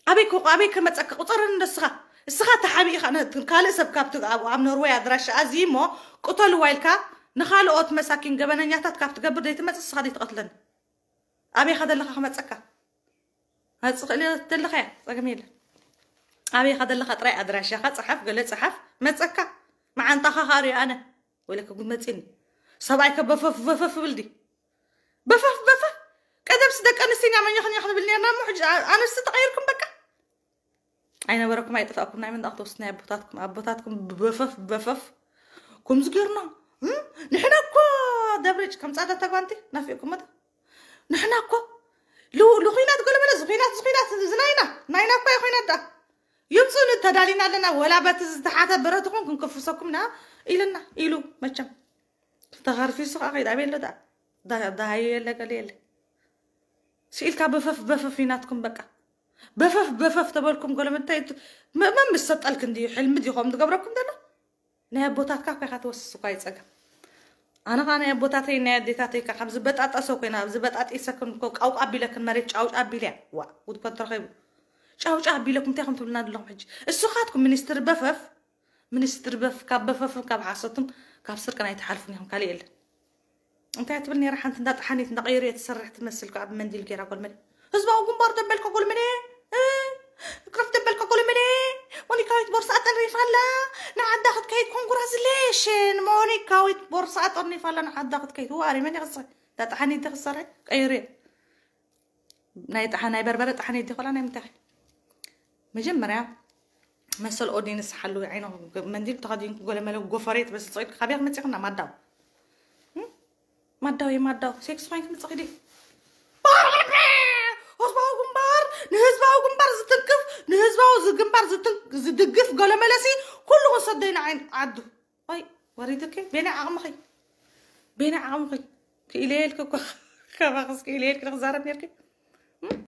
ኣበይ ከ ኣበይ ከመፀካ ቁፀረኒ እንዶ እስኻ። እስኻ ተሓቢእኻ ነ- ካልእ ሰብ ካብቲ ኣብ ኣብ ኖርወይ ኣድራሻ ኣዚ እሞ ቅተልዋ ኢልካ ንኻልኦት መሳኪን ገበነኛታት ካብ ትገብር ዘይትመፅእ እስኻ ዘይትቐትለኒ። ኣበይ ኻ ዘለኻ ክመፀካ? መፅእ ክእል ዘለኻ እያ፣ ፀገም የለን። ኣበይ ኻ ዘለኻ ጥራይ ኣድራሻኻ ፀሓፍ፣ ገለ ፀሓፍ፣ መፀካ። መዓንጣኻ ኻሪ ኣነ ወይለከ ጉድ መፂኒ። ሰብኣይ ከ በፈፍ በፈፍ ብል ዲ በፈፍ በፈፍ። ቀደምስ ደቂ ኣንስትዮ ኢና መኛኽ ኛኽ ንብል ነርና እሞ ሕጂ ኣ- ኣንስቲ ተቐይርኩም በቃ። ኣይነበረኩም ኣይጠፋእኩም ናይ መንዳቕ ተወስድ ናይ ኣቦታትኩም ኣቦታትኩም በፈፍ በፈፍ። ከምዚ ገርና እም? ንሕና እኮ ደብረጭ ከም ፃዳ ተጓንቲ ናፊቕኩም መጣ። ንሕና እኮ ሉ- ልኹናት ገለመለ ዝኹናት ዝኹናት ዝናይና ናይና እኮ ይኹናት ዳ ይምፁ ንተዳሊና ኣለና። ወላ በቲ ዝተሓተ ብረትኹም ክንክፍሰኩም ና ኢልና ኢሉ መቸም ተኸርፊሱ ከዓ ከይድ ኣበይ ኣሎ ዳ ዳ- ዳሃዩ የለ ገለ የለ። ስኢልካ በፈፍ በፈፍ ይናትኩም በቃ። በፈፍ በፈፍ ተበልኩም ገለ ምንታይ ት- መ- መን ምስ ሰጠልክ እንድዩ ሕልሚ ድዩ ከምኡ ዝገብረኩም ዘሎ? ናይ ኣቦታትካ እኳ ኢኻ ትወስስ እኳ ይፀገም። ኣነ ኸዓ ናይ ኣቦታተይ ናይ ኣዴታተይ እኳ ካብ ዝበጣጠሰ ኮይና ኣብ ዝበጣጢሰክን እኮ ቃውቃ ኣቢለክን መሬት ጫውጫ ኣቢልያ ዋ ጉድ እኮ እንተረኺቡ ጫውጫ ኣቢለኩም እንታይ ከም ትብልና ዘለኹም ሕጂ? እሱኻትኩም ሚኒስትሪ በፈፍ ሚኒስትሪ በፍ ካብ በፈፍን ካብ ሓሶትን ካብ ስርቅን ኣይትሓልፉን ኢኹም ካልእ የለን። እንታይ ትብል ነይራ ሓንቲ እንዳ ጠሓኒት እንዳ ቀይሩ እየ ትሰርሕ ትመስል ከኣ ብመንዲል ገይራ ጎልመል ህዝባዊ ግንባር ደበልካ ጎልመል ክረፍ ደበልካ ጎልመል ሞኒካዊት ቦርሳ ጠሪፋ ኣላ ንዓዳ ክትከይድ ኮንግራስሌሽን ሞኒካዊት ቦርሳ ጠርኒፋ ኣላ ንዓዳ ክትከይድ ዋሪ መን ይኽስር እንዳ ጠሓኒት ክትሰርሕ ቀይሩ እየ ናይ ጠሓ ናይ በርበረ ጠሓኒት ዲኾላ ናይ ምንታይ መጀመርያ መሰል ኦዲ ንስሓሉ ዓይኖ መንዲል ተኸዲንኩ ጎለመለ ጎፈሬት በስፅዒት ካበያ ክመፅእና ማዳው ማዳው የማዳው ሴክስ ኮይን ክምፅእ ክዲ ህዝባዊ ግንባር ንህዝባዊ ግንባር ዝትንክፍ ንህዝባዊ ግንባር ዝድግፍ ገለመለሲ ኩሉ ክንሰደይና ዓይን ዓዱ ይ ወሪድኪ ቤና ዓቕምኺ ቤና ዓቕምኺ ክኢለ የልክ እኮ ከባኽስ ክኢለ የልክ ክዛረብ ነርኪ